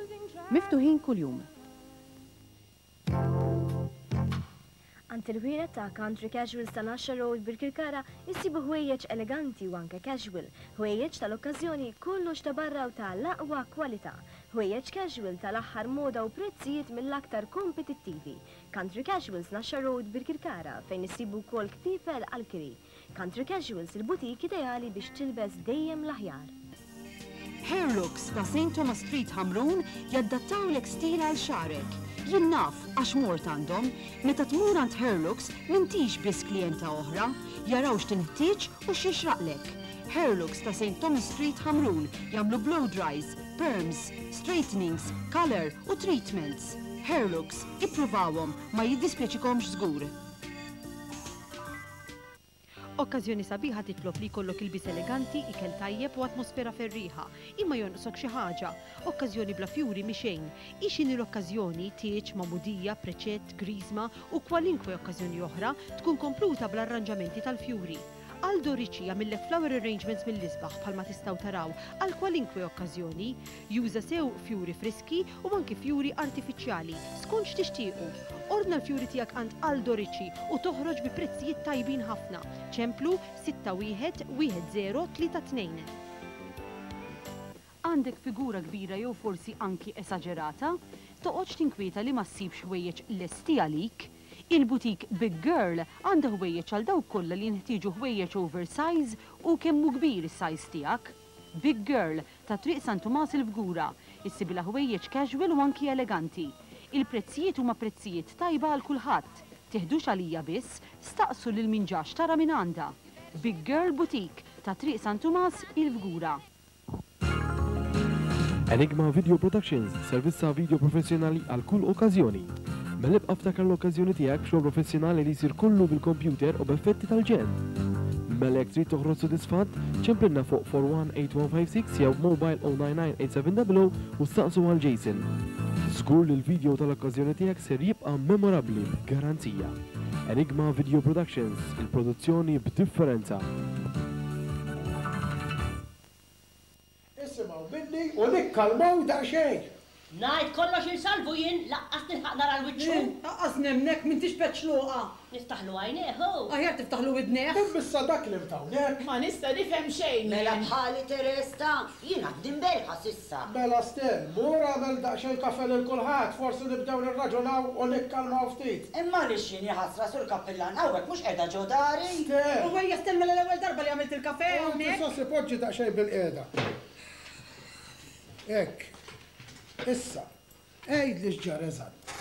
Speaker 15: Miftuħin kuljum.
Speaker 16: Għand il-ħwienet ta' Country Casuals ta' Naxxa Road Birkirkara issibu ħwejjeġ eleganti u anke casual, ħwejjeġ tal-okkażjoni kollox ta' barra u ta' l-aqwa kwalità, ħwejjeġ casual tal-aħħar moda u prezzijiet mill-aktar kompetittivi. Country Casuals Naxxa Road Birkirkara fejn issibu wkoll kpiepel għall-kiri. Country Casuals il-boutique ideali biex tilbes dejjem l-aħjar.
Speaker 17: Hairlooks ta' St Thomas Street Ħamrun jaddattawlek stil għal xagħrek. Jien naf għax mort għandhom. Meta tmur għand Hairlooks m'intix biss klijenta oħra. Jaraw x'tinħtieġ u x'jixraqlek. Hairlooks ta' St Thomas Street Ħamrun jagħmlu blow dries, perms, straightenings, colour u treatments. Hairlooks, ippruvawhom, ma jiddispjaċikomx żgur. Okkażjoni sabiħa titlob li jkollok ilbies eleganti, ikel tajjeb u atmosfera ferrieħa. Imma jonqsok xi ħaġa. Okkażjoni bla fjuri mhi xejn. Hi x'inhi l-okkażjoni, tieġ, magħmudija, preċett, griżma u kwalinkwe okkażjoni oħra, tkun kompluta bl-arranġamenti tal-fjuri. Aldo Ricci jagħmillek flower arrangements mill-isbaħ bħalma tistgħu taraw għal kwalinkwe okkażjoni. Juża sew fjuri friski u anki fjuri artifiċjali, skont x'tixtiequ. Ordna l-fjuri tiegħek għand Aldo Ricci u toħroġ bi prezzijiet tajbin ħafna. Ċemplu 61 1032. Għandek figura kbira jew forsi anki esaġerata? Toqgħodx tinkwieta li ma ssibx ħwejjeġ lesti għalik. Il-boutique Big Girl għandha ħwejjeġ għal dawk kollha li jinħtieġu ħwejjeġ oversize u kemm hu kbir is-size tiegħek. Big Girl, ta' Triq San Tumas il-Fgura, issibilha ħwejjeġ casual u anki eleganti. Il-prezzijiet huma prezzijiet tajba għal kulħadd. Tiħdux għalija biss, staqsu lil min ġa xtara minn għandha. Big Girl Boutique, ta' Triq San Tumas, il-Fgura.
Speaker 18: Enigma Video Productions, servizz ta' video professjonali għal kull okkażjoni. Mela ibqa' ftakar l-okkażjoni tiegħek b'xogħol professjonali li jsir kollu bil-kompjuter u b'effetti tal-ġenn. Mela jekk trid toħroġ sodisfatt, ċemplilna fuq 418156 jew mobile 0998700 u staqsu għal Jason. Żgur li l-video tal-okkażjoni tiegħek ser jibqa' memorabbli b'garanzija. Enigma Video Productions, il-produzzjoni b'differenza.
Speaker 6: Isimgħu minni u nikkalmaw daqsxejn.
Speaker 13: Ngħid kollox il Salvu jien, laqqas nilħaq nara l-wiċċu.
Speaker 17: Aqqas nemmnek, m'intix peċluqa.
Speaker 13: Niftaħlu għajnejh, hu.
Speaker 17: Aħjar tiftaħlu widnejh.
Speaker 6: Imma issa dak li hawnhekk.
Speaker 19: Ma nista' nifhem xejn jien.
Speaker 1: Mela bħali Teresta, jien għadni mbelħa s'issa.
Speaker 6: Mela Stell, mur agħmel daqsxejn kafè lil kulħadd, forsi nibdew nirraġunaw u nikkalmaw ftit.
Speaker 1: Imma għaliex jien jaħasra Sur Kappillan hawnhekk mhux qiegħda ġo dari?
Speaker 6: Stell!
Speaker 17: U ejja Stell mela l-ewwel darba li għamilt il-kafè
Speaker 6: U inti
Speaker 17: hawnhekk.
Speaker 6: Sossi poġġi daqsxejn bilqiegħda. Hekk. Issa, għidli x'ġara eżatt.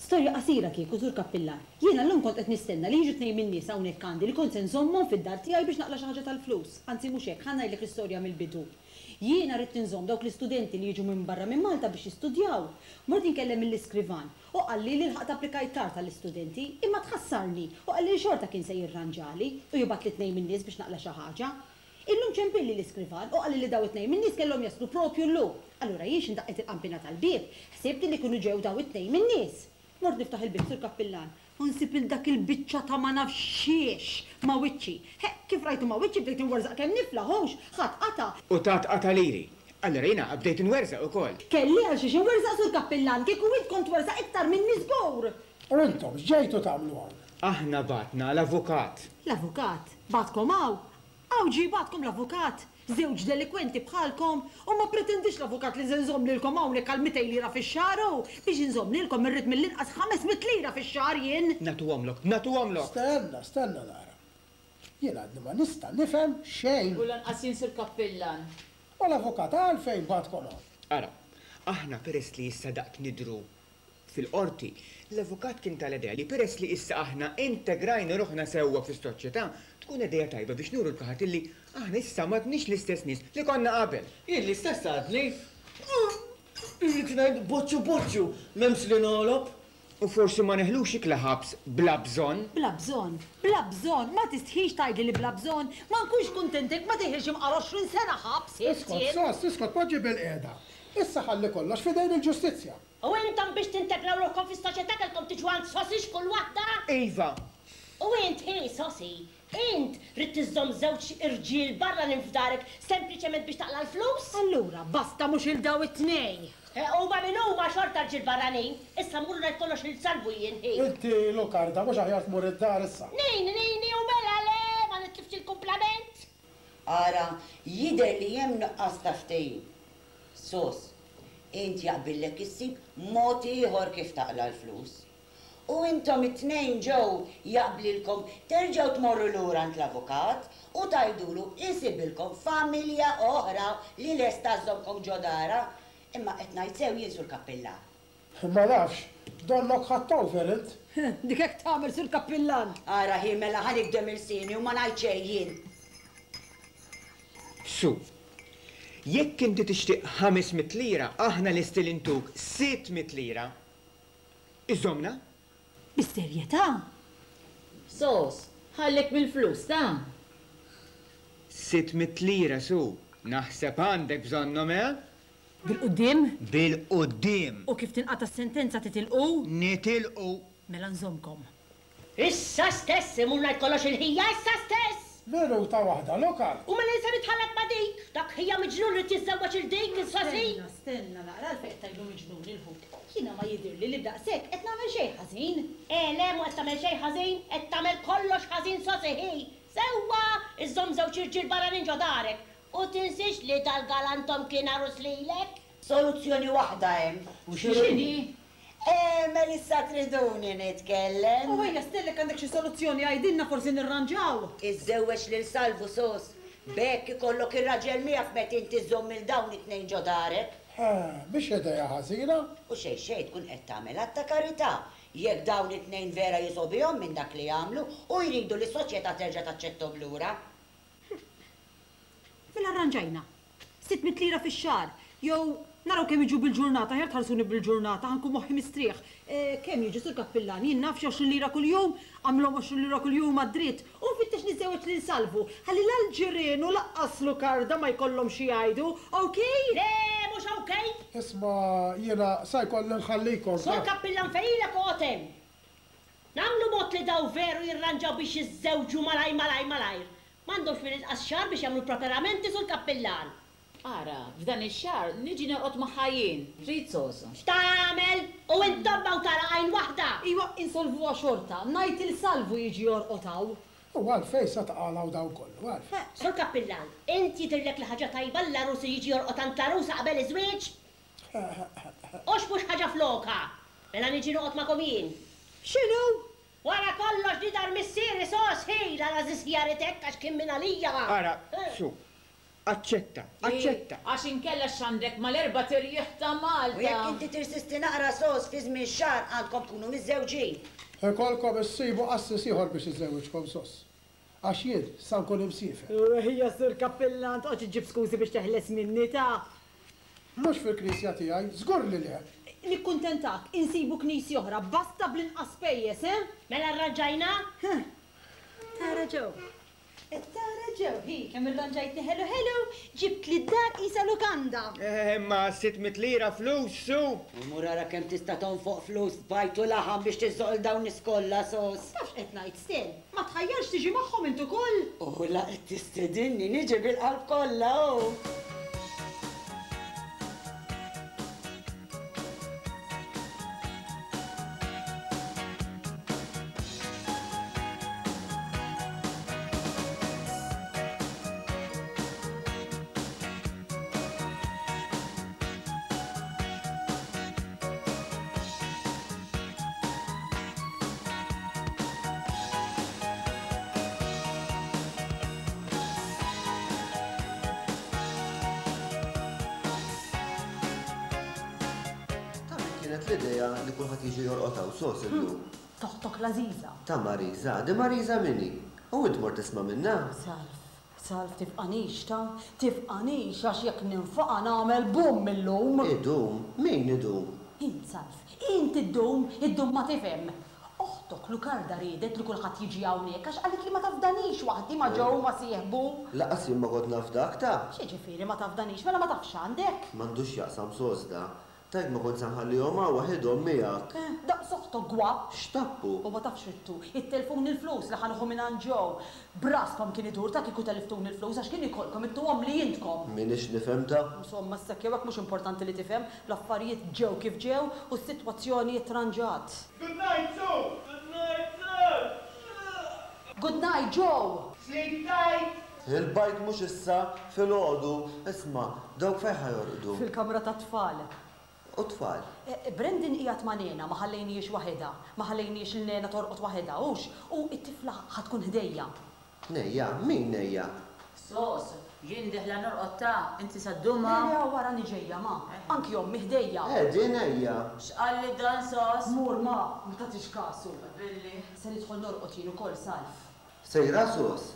Speaker 17: Storja qasira kieku, Sur Kappillan. Jiena llum kont qed nistenna li jiġu tnejn min-nies hawnhekk għandi li kont se nżommhom fid-dar tiegħi biex naqla' xi ħaġa tal-flus. Anzi mhux hekk, ħa ngħidlek l-istorja mill-bidu. Jiena ridt inżomm dawk l-istudenti li jiġu minn barra minn Malta biex jistudjaw. Mort inkellem lill-iskrivan u qalli li lħaqt applikajt tard għall-istudenti, imma tħassarni u qalli li xorta kien se jirranġali u jibgħatli tnejn min-nies biex naqla' xi ħaġa. Illum ċempilli l-iskrivan u qalli li daw it-tnejn min-nies kellhom jaslu propju llum. Allura jien x'indaqqet il-qampina tal-bieb, ħsibt li kienu ġew daw it-tnejn min-nies. Mort niftaħ il-bieb, Sur Kappillan, u nsib lil dak il-biċċa ta' ma nafx xiex ma' wiċċi. Ħeqq, kif rajtu ma' wiċċi bdejt inwerżaq kemm niflaħ, hux, ħadd qata'.
Speaker 11: U tat qata' liri. Allura jiena bdejt inwerżaq ukoll.
Speaker 17: Kelli għal xiex inwerżaq, Sur Kappillan, kieku int kont twerżaq iktar minni żgur!
Speaker 6: U intom x'ġejtu tagħmlu hawn?
Speaker 11: Aħna bagħtna l-avukat.
Speaker 17: L-avukat? Bagħatkom hawn? Hawn ġie jibgħatkom l-avukat? Żewġ delikwenti bħalkom? U ma ppretendix l-avukat li se nżomm lilkom hawnhekk għal 200 lira fix-xahar u, biex inżomm lilkom irrid mill-inqas 500 lira fix-xahar jien!
Speaker 11: Nagħtuhomlok, nagħtuhomlok!
Speaker 6: Stenna, stenna nara. Jien għadni ma nista' nifhem xejn!
Speaker 19: U lanqas jien Sur Kappillan.
Speaker 6: U l-avukat għalfejn bagħatkom hawn?
Speaker 11: Ara, aħna peress li issa daqt nidhru Fil-Qorti, l-avukat kien tal-idea li peress li issa aħna integrajna ruħna sewwa fis-soċjetà, tkun idea tajba biex nuru 'l kulħadd illi aħna issa m'għadniex l-istess nies li konna qabel.
Speaker 14: Jien l-istess għadni. Irrid ngħid boċċu boċċu, m'hemmx li nogħlob.
Speaker 11: U forsi ma neħlux ikla ħabs bla bżonn.
Speaker 17: Bla bżonn? Bla bżonn? Ma tistħix tgħidli li bla bżonn? Ma nkunx kuntent jekk ma teħilx imqar 20 sena ħabs, int
Speaker 6: Iskot,
Speaker 17: jien.
Speaker 6: Sos, iskot, poġġi bilqiegħda. Issa ħalli kollox f'idejn il-ġustizzja.
Speaker 13: U intom biex tintegraw ruħkom fis-soċjetà kellkom tiġu għand Sosy x'kull waħda?
Speaker 11: Iva!
Speaker 13: U int, hi, Sosy, int ridt iżżomm żewġ irġiel barranin f'darek sempliċement biex taqla' l-flus?
Speaker 17: Allura basta mhux 'il daw it-tnejn!
Speaker 13: Huma min huma xorta rġiel barranin. Issa mmur u ngħid kollox lil Salvu jien, hi.
Speaker 6: Inti, Lukarda, mhux aħjar tmur id-dar issa?
Speaker 13: Nini, nini, u mela le, ma nitlifx il-kumplament!
Speaker 1: Ara, jidher li hemm nuqqas ta' ftehim. Sos, int jaqbillek issib mod ieħor kif taqla' l-flus. U intom it-tnejn Joe jaqblilkom terġgħu tmorru lura għand l-avukat u tgħidulu isibilkom familja oħra li lesta żżommkom ġo darha. Imma qed ngħid sew jien Sur Kappillan?
Speaker 6: Ma nafx, donnok ħadt over int.
Speaker 17: Dik hekk tagħmel Sur Kappillan.
Speaker 1: Ara hi mela ħa nigdem ilsieni u ma ngħid xejn jien.
Speaker 11: Su, Jekk inti tixtieq 500 lira, aħna lesti li ntuk 600 lira. Iżżommna?
Speaker 17: Bis-serjetà?
Speaker 3: Sos, ħallik mill-flus, ta!
Speaker 11: 600 lira, Su. Naħseb għandek bżonnhom, eh?
Speaker 17: Bil-quddiem?
Speaker 11: Bil-quddiem!
Speaker 17: U kif tinqata' s-sentenza titilqu?
Speaker 11: Nitilqu!
Speaker 17: Mela nżommkom.
Speaker 13: Issa stess imur ngħid kollox il-ħija, issa stess!
Speaker 6: Minuta waħda, Lokal!
Speaker 13: U mela jien se nitħallat ma' dik? Dak ħija miġnun ried jiżżewweġ 'il dik, il-Sosi!
Speaker 17: Stenna, stenna naqra, għalfejn qed tgħidlu miġnun il-ħuk? Jiena ma jidhirli li b'daqshekk qed nagħmel xejn ħażin.
Speaker 13: Eh le, mhu qed tagħmel xejn ħażin, qed tagħmel kollox ħażin Sosi ħi! Sewwa! Iżżomm żewġ irġiel barranin ġo darek! U tinsiex li dal-galantom kien għarus lilek!
Speaker 1: Soluzzjoni waħda hemm.
Speaker 17: U x'inhi?
Speaker 1: Għemel issa triduni nitkellem.
Speaker 17: U ejja Stella jekk għandek xi soluzzjoni għidilna forsi nirranġaw.
Speaker 1: Iżżewweġ lil Salvu Sos. B'hekk ikollok ir-raġel miegħek meta inti żżomm 'il dawn it-tnejn ġo darek.
Speaker 6: Mhix idea ħażina.
Speaker 1: U xejn xejn tkun qed tagħmel att ta' karità jekk dawn it-tnejn vera jisgħobihom minn dak li għamlu u jridu li s-soċjetà terġa' taċċetthom lura.
Speaker 17: Mela rranġajna. 600 lira fix-xahar jew. Naraw kemm jiġu bil-ġurnata, aħjar tħallsuni bil-ġurnata, ħa nkun moħħi mistrieħ. Kemm jiġu, Sur Kappillan? Jien naf xi 20 lira kuljum? Agħmilhom 20 lira kuljum għad-dritt. U nfittex niżżewweġ lil Salvu, ħalli la l-ġirien u lanqas Lukarda ma jkollhom xi jgħidu. Ok?
Speaker 13: Le, mhux ok!
Speaker 6: Isma' jiena sa jkolli nħallikom.
Speaker 13: Sur Kappillan fejn ilek oqgħod hemm. Nagħmlu mod li dawn veru jirranġaw biex jiżżewġu malajr malajr malajr. M'għandhomx mill-inqas xahar biex jagħmlu l-preparamenti, Sur Kappillan.
Speaker 19: Ara, f'dan ix-xahar niġi norqod magħha jien, trid soso?
Speaker 13: X'tagħmel? U int tomma u tara għajn waħda!
Speaker 17: Iwa, insolvuha xorta, ngħid 'il Salvu jiġi jorqod hawn.
Speaker 6: U għalfejn sa taqalgħu dawn kollu, għalfejn?
Speaker 13: Sur Kappillan, int jidhirlek li ħaġa tajba li l-għarus jiġi jorqod għand l-għarusa qabel iż-żwieġ? Hux mhux ħaġa flokha! Mela niġi noqgħod magħkom jien.
Speaker 17: X'inhu?
Speaker 13: Wara kollox di dar missieri sos hi, l-għażiż ħjaret hekk għax kien mingħalija.
Speaker 11: Ara, su, Aċċetta, aċċetta!
Speaker 19: Għax inkella x'għandek mal-erbat irjieħ ta' Malta?
Speaker 1: U jekk inti tirsisti naqra sos fi żmien xahar għandkom tkunu miżżewġin.
Speaker 6: Ikollkom issibu qassis ieħor biex iżewwiġkom sos. Għax jien sa nkun imsiefer.
Speaker 17: Ejja Sur Kappillan, toqgħodx iġġib skużi biex teħles minni ta'.
Speaker 6: Mhux fil-knisja tiegħi, żgur li le!
Speaker 17: Nikkuntentak, insibu knisja oħra, basta bl-inqas spejjeż, eh?
Speaker 13: Mela rranġajna?
Speaker 17: Tara ġew. Qed tara Joe, hi, kemm irranġajtni ħelu ħelu, ġibtli d-dar qisha lukanda.
Speaker 11: Eh, imma 600 lira flus, su!
Speaker 1: U mur ara kemm tista' tonfoq flus f'bajd u laħam biex tiżżoq 'il dawn nies kollha, sos.
Speaker 17: Taf x'qed ngħid, Stel? Ma tħajjarx tiġi magħhom int ukoll?
Speaker 1: U la qed tistedinni niġi bil-qalb kollha, hu!
Speaker 20: Ta' min kienet l-idea li kulħadd jiġi jorqod hawn sos illum?
Speaker 17: Toħtok l-għażiża.
Speaker 20: Ta' Marisa, di Marisa min hi? U int mort tisma' minnha?
Speaker 17: Salv, Salv tifqanix ta, tifqanix għax jekk ninfaqa' nagħmel bumm illum.
Speaker 20: Idum? Min idum?
Speaker 17: Int Salv, int iddum, iddum ma tifhem. Oħtok Lukarda riedet li kulħadd jiġi hawnhekk għax qalitli ma tafdanix waħdi ma' Joe ma' sieħbu.
Speaker 20: Lanqas jien ma kont naf dak ta'.
Speaker 17: X'jiġifieri ma tafdanix, mela ma tafx x'għandek?
Speaker 20: M'għandux x'jaqsam sos da. Tgħid ma kontx sa nħallihom hawn waħidhom miegħek.
Speaker 17: Eh, daqs oħtok gwa.
Speaker 20: X'tappu?
Speaker 17: U ma tafx ridtu. Ittelfuni l-flus li ħa nieħu mingħand Joe. B'raskom kien idur ta' kieku telliftuni l-flus għax kien ikollkom ittuhomli intkom.
Speaker 20: M'iniex nifhem ta'.
Speaker 17: Insomma, issa jew hekk mhux importanti li tifhem, l-affarijiet ġew kif ġew u s-sitwazzjoni ttranġat.
Speaker 14: Good night, Sue! Good night, sir!
Speaker 17: Good night, Joe!
Speaker 14: Sleep tight!
Speaker 20: Il-bajd mhux issa, filgħodu. Isma', dawk fejn ħa jorqdu?
Speaker 17: Fil-kamra tat-tfal.
Speaker 20: U t-tfal?
Speaker 17: Brandon qiegħed ma' Nena, ma ħallejnihiex waħedha. Ma ħallejnihiex lil Nena torqod waħedha, hux? U t-tifla ħa tkun ħdejja.
Speaker 20: Nejja? Min nejja?
Speaker 19: Sos, jien dieħla norqod ta, inti sa ddum
Speaker 17: Le,
Speaker 19: hawn?
Speaker 17: le, hawn arani ġejja, ma. Anki ommi ħdejja.
Speaker 20: Eh, di nejja!
Speaker 19: X'qalli dan Sos?
Speaker 17: Mur, ma, ma tagħtix kasu.
Speaker 19: Billi.
Speaker 17: Se nidħol norqod jien ukoll, Salv.
Speaker 20: Sejra Sos?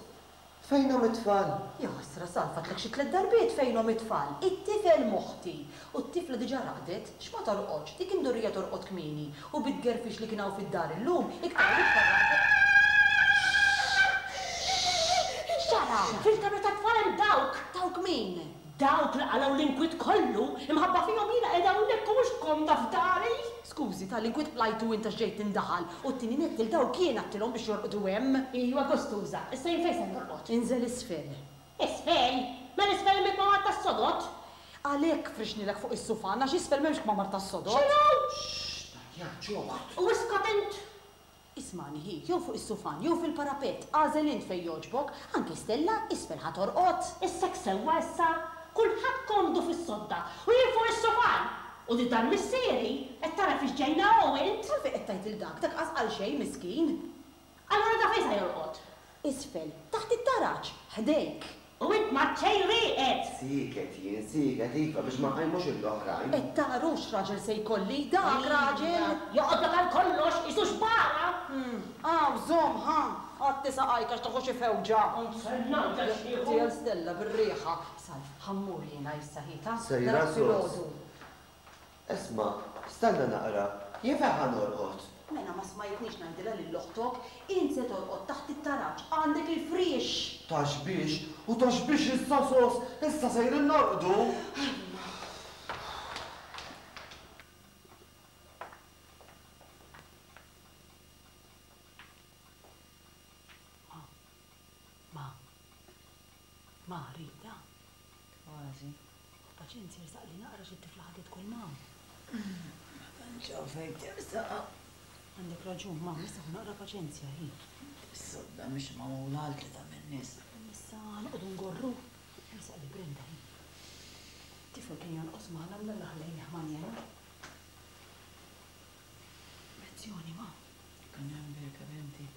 Speaker 20: Fejnhom it-tfal?
Speaker 17: Jaħasra, Salv, għadtlek xi tlett darbiet fejnhom it-tfal. It-tifel m'oħti. U t-tifla diġà raqdet. X'ma torqodx? Dik imdorrija torqod kmieni. U bit-tgerfix li kien hawn fid-dar illum, iktar u iktar raqdet. X'ġara?
Speaker 13: Fil-kamra tat-tfal hemm dawk!
Speaker 17: Dawk min?
Speaker 13: Dawk li qalgħu l-inkwiet kollu, imħabba fihom jiena qiegħda hawnhekk u mhux komda f'dari!
Speaker 17: Skużi, ta' l-inkwiet qlajtu int għax ġejt tindaħal, u t-tieni nett lil dawk jien għedtilhom biex jorqdu hemm.
Speaker 13: Ijwa gustuża, issa jien fejn se norqod?
Speaker 17: Inżel isfel.
Speaker 13: Isfel? Mela isfel hemm il-kmamar tas-sodod!
Speaker 17: Għalhekk frixnilek fuq is-sufan, għax isfel m'hemmx kmamar tas-sodod.
Speaker 13: X'inhu?
Speaker 20: Xxt, tgħajjatx oħt!
Speaker 13: U iskot int!
Speaker 17: Ismagħni hi, jew fuq is-sufan jew fil-parapett, agħżel int fejn jogħġbok, anki Stella isfel ħa torqod.
Speaker 13: Issa hekk sewwa issa? Kulħadd komdu fis-sodda u jien fuq is-sufan! U di dar missieri, qed tara fiex ġejna hawn int?
Speaker 17: Għalfejn qed tgħid lil dak, dak qas qal xejn miskin.
Speaker 13: Allura da fejn sa jorqod?
Speaker 17: Isfel, taħt it-taraġ, ħdejk.
Speaker 13: U int m'għad xejn rieqed!
Speaker 20: Sieket jien, sieket, iva, biex ma nqajmux lill-oħrajn.
Speaker 17: Qed tara hux raġel se jkolli, dak raġel!
Speaker 13: Joqgħodlok għal kollox, qisu xbara!
Speaker 17: Hawn, żomm, ħa! Għatti saqajk għax tieħu xi fewġa!
Speaker 13: Kont ser ngħidlek x'nieħu!
Speaker 17: Għal Stella bir-riħa. Salv, ħa mmur jiena issa, hi, ta?
Speaker 20: Sejra
Speaker 17: Narak
Speaker 20: sos.
Speaker 17: filgħodu.
Speaker 20: Isma', stenna naqra, jien fejn ħa norqod?
Speaker 2: Mela ma smajtnix ngħidilha lil oħtok, int se torqod taħt it-taraġ, għandek il-friex!
Speaker 20: Ta' xbiex? U ta' xbiex issa sos, issa sejrin norqdu!
Speaker 3: Ma. Ma. Ma, Rita. Kważi. Paċenzja, ersaqli naqra xi t-tifla ħadet kull ma. Ma tantx hawn fejn tersaq. Għandek raġun, ma, issa ħu naqra paċenzja, hi. Is-sodda mhix magħmula għal tlieta min-nies. Issa noqogħdu ngorru. Ersaqli Brenda, hi. Tifel kien jonqos magħna mnalla ħallejnih manjena. Lezzjoni, ma. Kien hemm birka binti.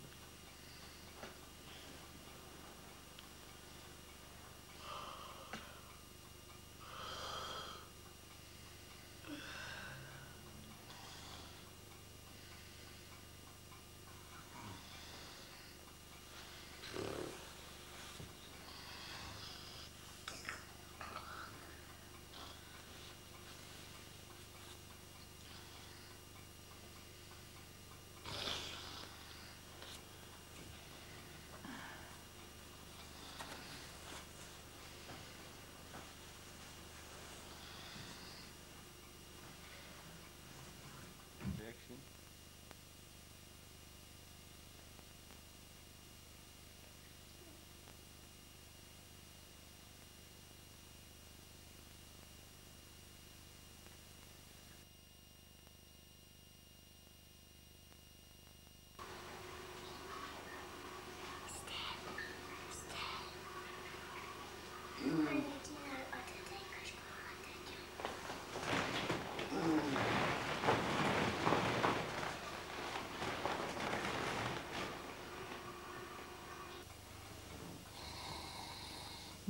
Speaker 18: Action.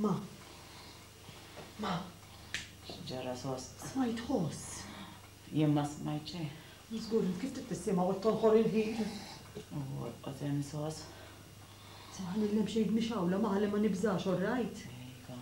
Speaker 17: Ma. Ma.
Speaker 3: X'ġara sos?
Speaker 17: Smajt ħoss.
Speaker 3: Jien ma smajt xejn.
Speaker 17: Żgur, kif trid tissimgħu qed tonħor il-ħin.
Speaker 3: U orqod hemm sos.
Speaker 17: Se ħallilhem xejn mixgħula ma ħalli ma nibżax, all right?
Speaker 3: Iva.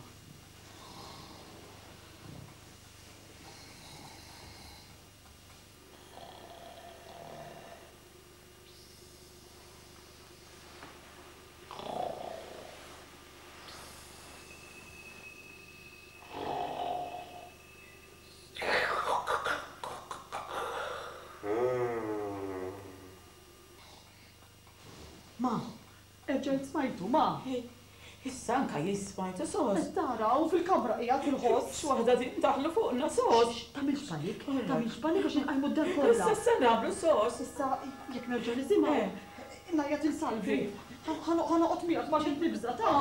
Speaker 17: Ma, erġajt smajtu, ma.
Speaker 3: Issa anka jien smajtu sos.
Speaker 17: Qed tara, hawn fil-kamra qiegħed il-ħoss.
Speaker 3: X'waħda din daħlu fuqna sos.
Speaker 17: Tagħmilx panik, tagħmilx panik għax inqajmu d-dar kollha.
Speaker 3: Issa x'se nagħmlu sos?
Speaker 17: Issa jekk nerġa' nisimgħu, ngħajjat 'il Salvi. Ħa noqgħod miegħek ma għax qed nibża' ta'.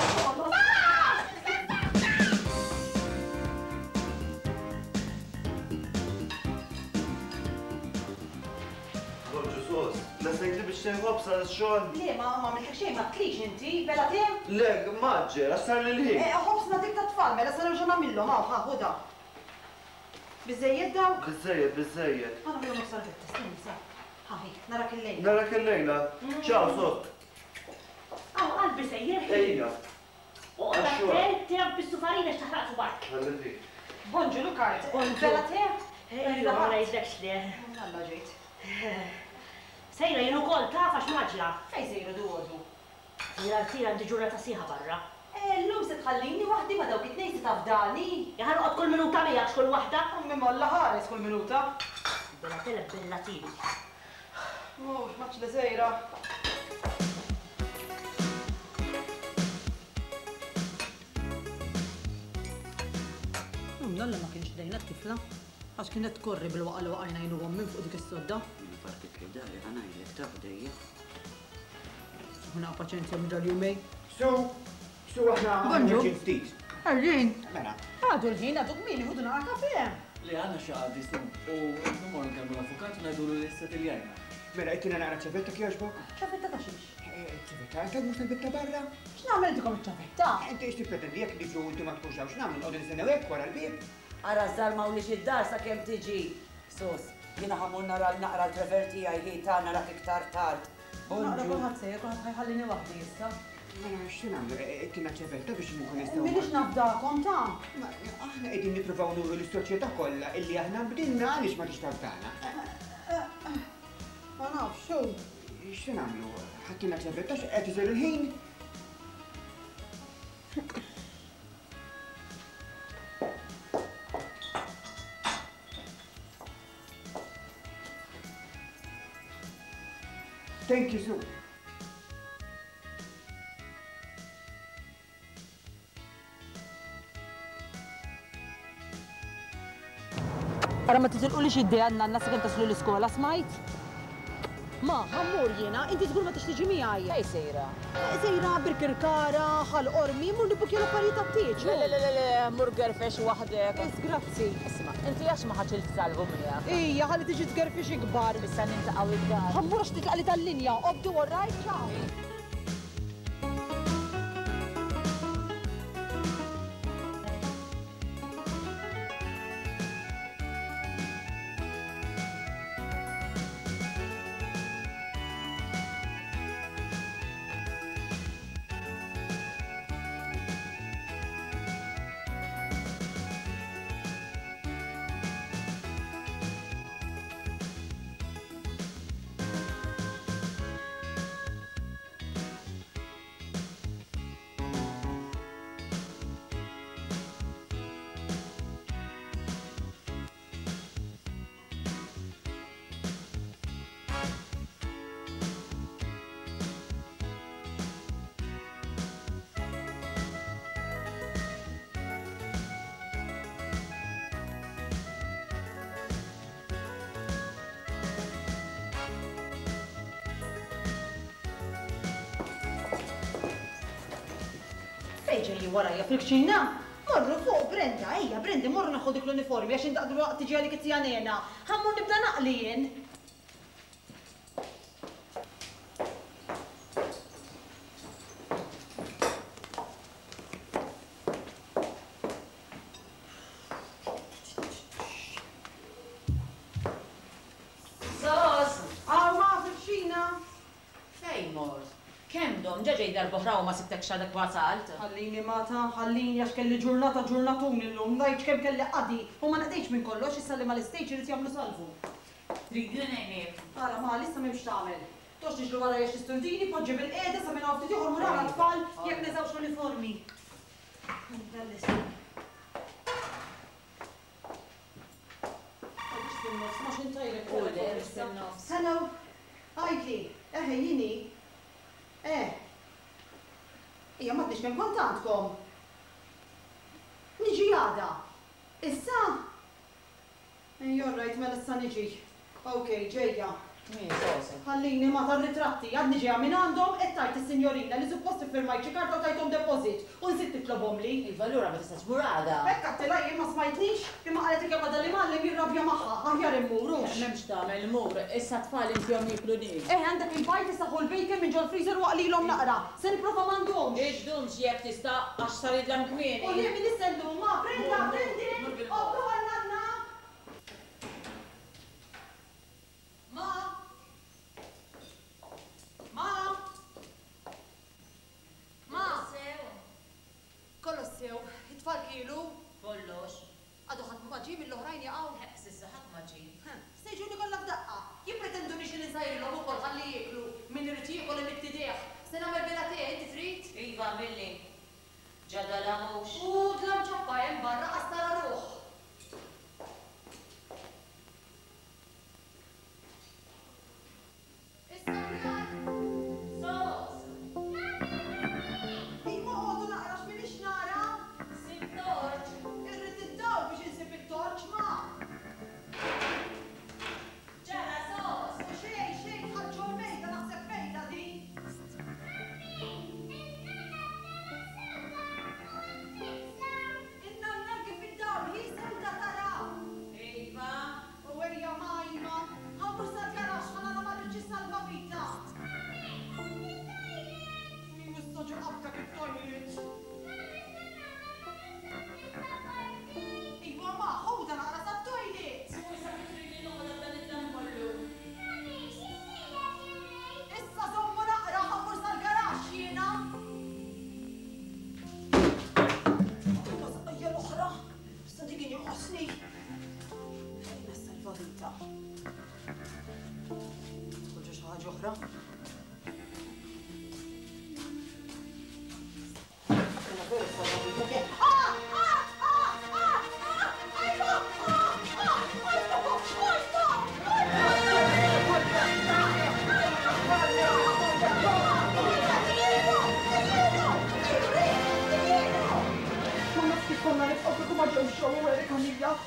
Speaker 20: Bonġu sos, lestejtli biex xejn ħobż għal xogħol?
Speaker 2: Le, ma għamiltlek xejn, ma tlix inti, bela te?
Speaker 20: Le, mgħaġġel, għax sarli l-ħin.
Speaker 2: Eh, ħobż nagħtik tat-tfal, mela sa nerġa' nagħmilhom, hawn, ħa, ħudha. Biżżejjed dawk?
Speaker 20: Biżżejjed, biżżejjed.
Speaker 2: Ħa nagħmilhom nofs salvetta, stenni, sa. Ħa, hi, narak illejla.
Speaker 20: Narak illejla. Ciao, sos.
Speaker 13: Hawn, qalbi sejjer.
Speaker 20: Ejja.
Speaker 13: Oqgħod attent tilgħab bis-sufarina għax taħraq subgħajk.
Speaker 20: Ħalli fik.
Speaker 2: Bonġu Lukart. Bella te?
Speaker 13: Ejja, ma ngħidlekx le.
Speaker 2: Alla ġejt.
Speaker 13: Sejra jien ukoll taf għax mgħaġġla.
Speaker 2: Fejn sejra duodu?
Speaker 13: Sejra rtira għandi ġurnata sħiħa barra.
Speaker 2: Llum se tħallini waħdi ma' dawk it-tnejn se tafdani?
Speaker 13: Ħa noqgħod kull minuta miegħek x'kull waħda.
Speaker 2: Ommi m'Alla ħares kull minuta.
Speaker 13: Bella tele bella tieni.
Speaker 2: Mhux maċ li sejra. Mnalla ma kienx ħdejna t-tifla, għax kienet tkorri bil-waqa' li waqajna jien u ommi minn fuq dik is-sodda.
Speaker 1: Jiena partit li dari ħa ngħidlek taf ħdejja.
Speaker 17: Ħuna paċenzja minn dal-jumejn.
Speaker 11: Su, su aħna
Speaker 17: Bonġu.
Speaker 11: ħerġin ftit.
Speaker 17: Ħerġin.
Speaker 11: Mela.
Speaker 17: Għadu l-ħin, għadu kmieni, ħudu naqra kafè.
Speaker 14: Le għandna xi qadi su u mmorru nkellmu l-avukat u ngħidulu li ssettiljajna.
Speaker 11: Mela ittina naqra ċavetta kjoġbok?
Speaker 2: Ċavetta ta' xiex?
Speaker 11: Ċavetta, ta' mhux tal-bieb ta' barra?
Speaker 2: X'nagħmel intikom iċ-ċavetta?
Speaker 11: Inti x'tippretendi jekk niġu u inti ma tkunx hawn x'nagħmlu nqogħdu nistennew hekk wara l-bieb?
Speaker 1: Ara żarmawlix id-dar sakemm tiġi. Sus, jiena ħa mmur nara naqra l-Trevor tiegħi hi ta' narak iktar tard.
Speaker 3: Naqra kulħadd sejjer, kulħadd ħa jħallini waħdi issa.
Speaker 11: Mela x'se nagħmlu? Tina ċevelta biex nkun nistgħu.
Speaker 3: M'iniex nafdakom ta'.
Speaker 11: Aħna qegħdin nippruvaw nuru lis-soċjetà kollha illi aħna bdilna għaliex ma tix tafdana.
Speaker 3: Ma nafx, hu.
Speaker 11: X'se nagħmlu? Ħadtilna ċevelta x'qed isir il-ħin? Thank you, Sue.
Speaker 3: Ara ma titilqulix id-dea n-nanna sakemm taslu l-iskola, smajt? Ma, ħa mmur jiena, inti żgur ma tix tiġi miegħi.
Speaker 19: Fejn sejra?
Speaker 3: Sejra Birkirkara, Ħal Qormi, mmur nibbukkja l-affarijiet tat-tieġ.
Speaker 19: Le, le, le, le, mur gerfex waħdek.
Speaker 3: Is, grazzi.
Speaker 19: Isma', inti għax ma ħadtx il-fsalvu miegħek?
Speaker 3: Ija, ħalli tiġi tgerfix ikbar.
Speaker 19: Issa niltaqgħu id-dar.
Speaker 3: Ħa mmur għax titlaqli tal-linja. Obdu all right? Ciao. Fejn ġejjin warajja fil-kċina? Morru fuq, Brenda, ejja, Brendi, morru neħħu dik l-uniformi għax int dalwaqt tiġi għalik it-tija Nena. Ħa mmur nibda naqli jien.
Speaker 19: Sos!
Speaker 3: Hawn ma fil-kċina.
Speaker 19: Fejn mort? Kemm domt? Ġa ġejt darb'oħra u ma sibtekx għadek wasalt.
Speaker 3: Ħallini Mata, ħallini għax kelli ġurnata ġurnatun illum, ngħidx kemm kelli qadi u ma nqdejtx minn kollox, issa li mal-istejġ irid jagħmlu salvu.
Speaker 19: Tridni ngħinek?
Speaker 3: Ara Ma, issa m'hemmx x'tagħmel. Toqgħodx tiġri warajja għax tisturdini, poġġi bilqiegħda sa minn hawn ftit ieħor mur ara t-tfal jekk neżgħux l-uniformi. Hello, għidli, eħe jien hi. Eh. Ija m'għadniex kemm kont għandkom. Niġi għada. Issa? Ejja all right mela issa niġi. Ok, ġejja.
Speaker 19: Min, Soso?
Speaker 3: Ħallini ma tar-ritratti, għadni ġejja minn għandhom, qed tgħid is-sinjorina li suppost iffirmajt xi karta u tajthom deposit u nsiet titlobhomli.
Speaker 19: Iva allura ma tistax tmur għada.
Speaker 3: Hekk għedtilha jien ma smajtnix? Imma qalet li kemm għadha l-imgħallem jirrabja magħha, aħjar immur hux?
Speaker 19: M'hemmx x'tagħmel, mur. Issa t-tfal intihom jieklu nies.
Speaker 3: Eħe għandek il-bajd issa ħu l-bacon minn ġol-freezer u aqlilhom naqra. Se nipprova m'għandhomx.
Speaker 19: Iddumx jekk tista' għax sar jidlam kmieni.
Speaker 3: U jien min issa llum ma' Brenda, Brendan, oqgħdu għan-nanna. Ma! Ma! Ma!
Speaker 19: Sew.
Speaker 3: Kollox sew. It-tfal kielu?
Speaker 19: Kollox.
Speaker 3: Għadu ħadd ma ġie mill-oħrajn jaqgħu?
Speaker 19: Ħeqq s'issa ħadd ma ġie.
Speaker 3: Ħemm. Se jiġuni kollha f'daqqa. Jippretenduni xi nsajrilhom ukoll ħalli jieklu. Min irid jiekol imidd idejh. Se nagħmel bela te, inti trid?
Speaker 19: Iva għamilli. Ġa dalam hux?
Speaker 3: U dlam ċappa hemm barra qas tara ruħ. Issa aħjar?
Speaker 19: Sos!
Speaker 3: Iva oqogħdu naqra għax m'iniex nara.
Speaker 19: Sib torċ.
Speaker 3: Irrid id-dawl biex insib it-torċ, ma.
Speaker 19: Ġara sos!
Speaker 3: U xejn, xejn dħalt ġol-mejda naħseb mejda din. In-nanna kif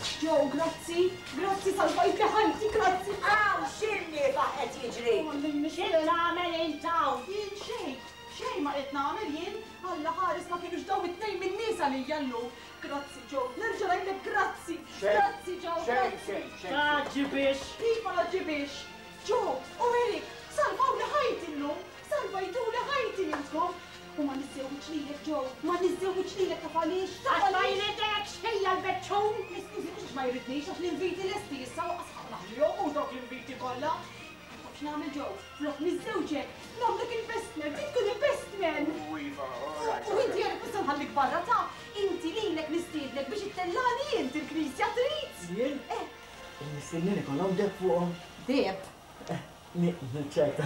Speaker 3: Joe, grazzi, grazzi salvajtli ħajti, grazzi.
Speaker 1: Hawn x'innifa qed jiġri?
Speaker 13: Xi tagħmel int hawn?
Speaker 3: Jien xejn, xejn ma qed nagħmel jien. Alla ħares ma kinux dawn it-tnejn min-nies għalija llum. Grazzi Joe, nerġa' ngħidlek grazzi. Grazzi Joe, grazzi.
Speaker 14: Tgħaġġibix.
Speaker 3: Iva ngħaġġibix. Joe u Eric, salvawli ħajti llum. Salvajtuli ħajti intkom. U ma niżżewwiġ lilek Joe, ma niżżewwiġ lilek taf għaliex? Taf
Speaker 13: Għax ma jridekx ħija l-beċċun!
Speaker 3: Iskużi mhux għax ma jridnix għax l-inviti lesti issa u qas ħa naħlihom mhux dawk l-inviti kollha. Taf x'nagħmel Joe? Flok niżżewġek, nagħmlek il-best man, trid tkun il-best man!
Speaker 8: U iva, all right.
Speaker 3: U inti Eric mhux se nħallik barra ta' inti lilek nistiednek biex ittellagħni int il-knisja trid?
Speaker 14: Jien?
Speaker 3: Eh.
Speaker 14: Il-mistednin ikollhom deheb fuqhom?
Speaker 3: Deheb?
Speaker 14: Niċċajta.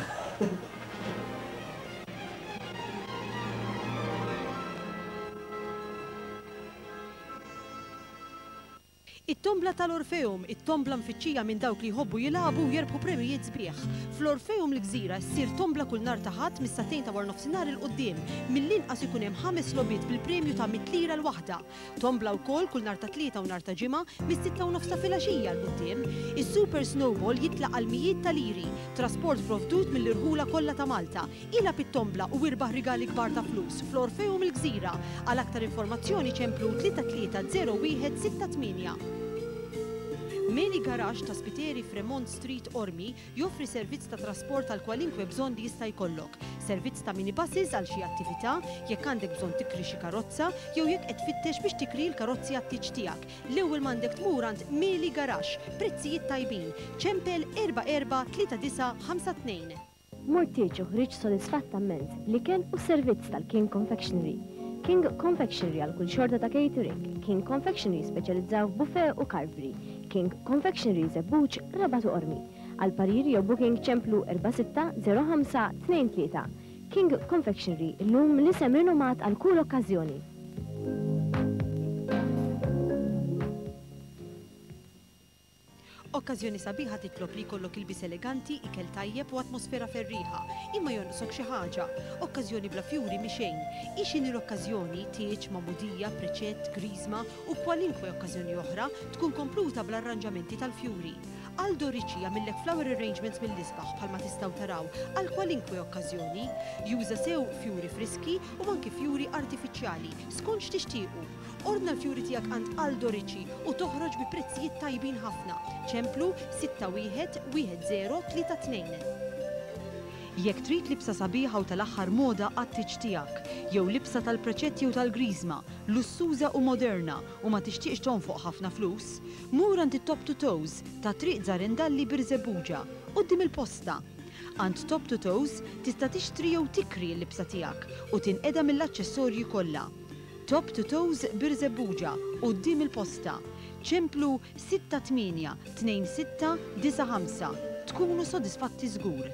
Speaker 17: It-tombla tal-Orpheum, it-tombla mfittxija minn dawk li jħobbu jilagħbu u jerbħu premjijiet sbieħ. Fl-Orpheum l-Gżira ssir tombla kull nhar ta' Ħadd mis-sagħtejn ta' waranofsinhar 'il quddiem. Mill-inqas ikun hemm ħames logħbiet bil-premju ta' mitt lira l-waħda. Tombla wkoll kull nhar ta' Tlieta u nhar ta' Ġimgħa mis-sitta u nofs ta' filgħaxija 'l quddiem. Is-Super Snowball jitlaq għal mijiet ta' liri. Trasport provdut mill-irħula kollha ta' Malta. Ilgħab it-tombla u irbaħ rigali kbar ta' flus fl-Orpheum il-Gżira. Għal aktar informazzjoni ċemplu 330168. Meli Garage ta' Spiteri f'Remont Street, Qormi, Joffri servizz ta' trasport għal kwalinkwe bżonn li jista' jkollok. Servizz ta' minibuses għal xi attività, jekk għandek bżonn tikri xi karozza, jew jekk qed tfittex biex tikri l-karozzi għat-tieġ tiegħek. L-ewwel m'għandek tmur għand Meli Garaxx. Prezzijiet tajbin. Ċempel 443952.
Speaker 16: Mort tieġ u ħriġt sodisfatta mmens bl-ikel u s-servizz tal-King Confectionery. King Confectionery għal kull xorta ta' catering. King Confectionery jispeċjalizzaw f'buffet u carvery. King Confectionery Żebbuġ, Rabat u Qormi. Għal pariri jew booking ċemplu 4605 23. King Confectionery, illum l-isem rinomat għal kull okkażjoni.
Speaker 17: Okkażjoni sabiħa titlob li jkollok ilbies eleganti, ikel tajjeb u atmosfera ferrieħa. Imma jonqsok xi ħaġa. Okkażjoni bla fjuri mhi xejn. Hi x'inhi l-okkażjoni, tieġ, magħmudija, preċett, griżma u kwalinkwe okkażjoni oħra, tkun kompluta bl-arranġamenti tal-fjuri. Aldo Ricci jagħmillek flower arrangements mill-isbaħ bħalma tistgħu taraw għal kwalinkwe okkażjoni. Juża sew fjuri friski u anki fjuri artifiċjali, skont x'tixtiequ. Ordna l-fjuri tiegħek għand Aldo Ricci u toħroġ bi prezzijiet tajbin ħafna. Ċemplu 61 1032. Jekk trid libsa sabiħa u tal-aħħar moda għat-tieġ tiegħek, jew libsa tal-preċett jew tal-griżma, lussuża u moderna u ma tixtieqx tonfoq ħafna flus, mur għand it-Top to Toes ta' Triq Zarendalli Birżebbuġa, quddiem il-Posta. Għand Top to Toes tista' tixtri jew tikri l-libsa tiegħek u tinqeda mill-aċċessorji kollha. Top to Toes Birżebbuġa, quddiem il-Posta. Ċemplu 68 26 95. Tkunu sodisfatti żgur.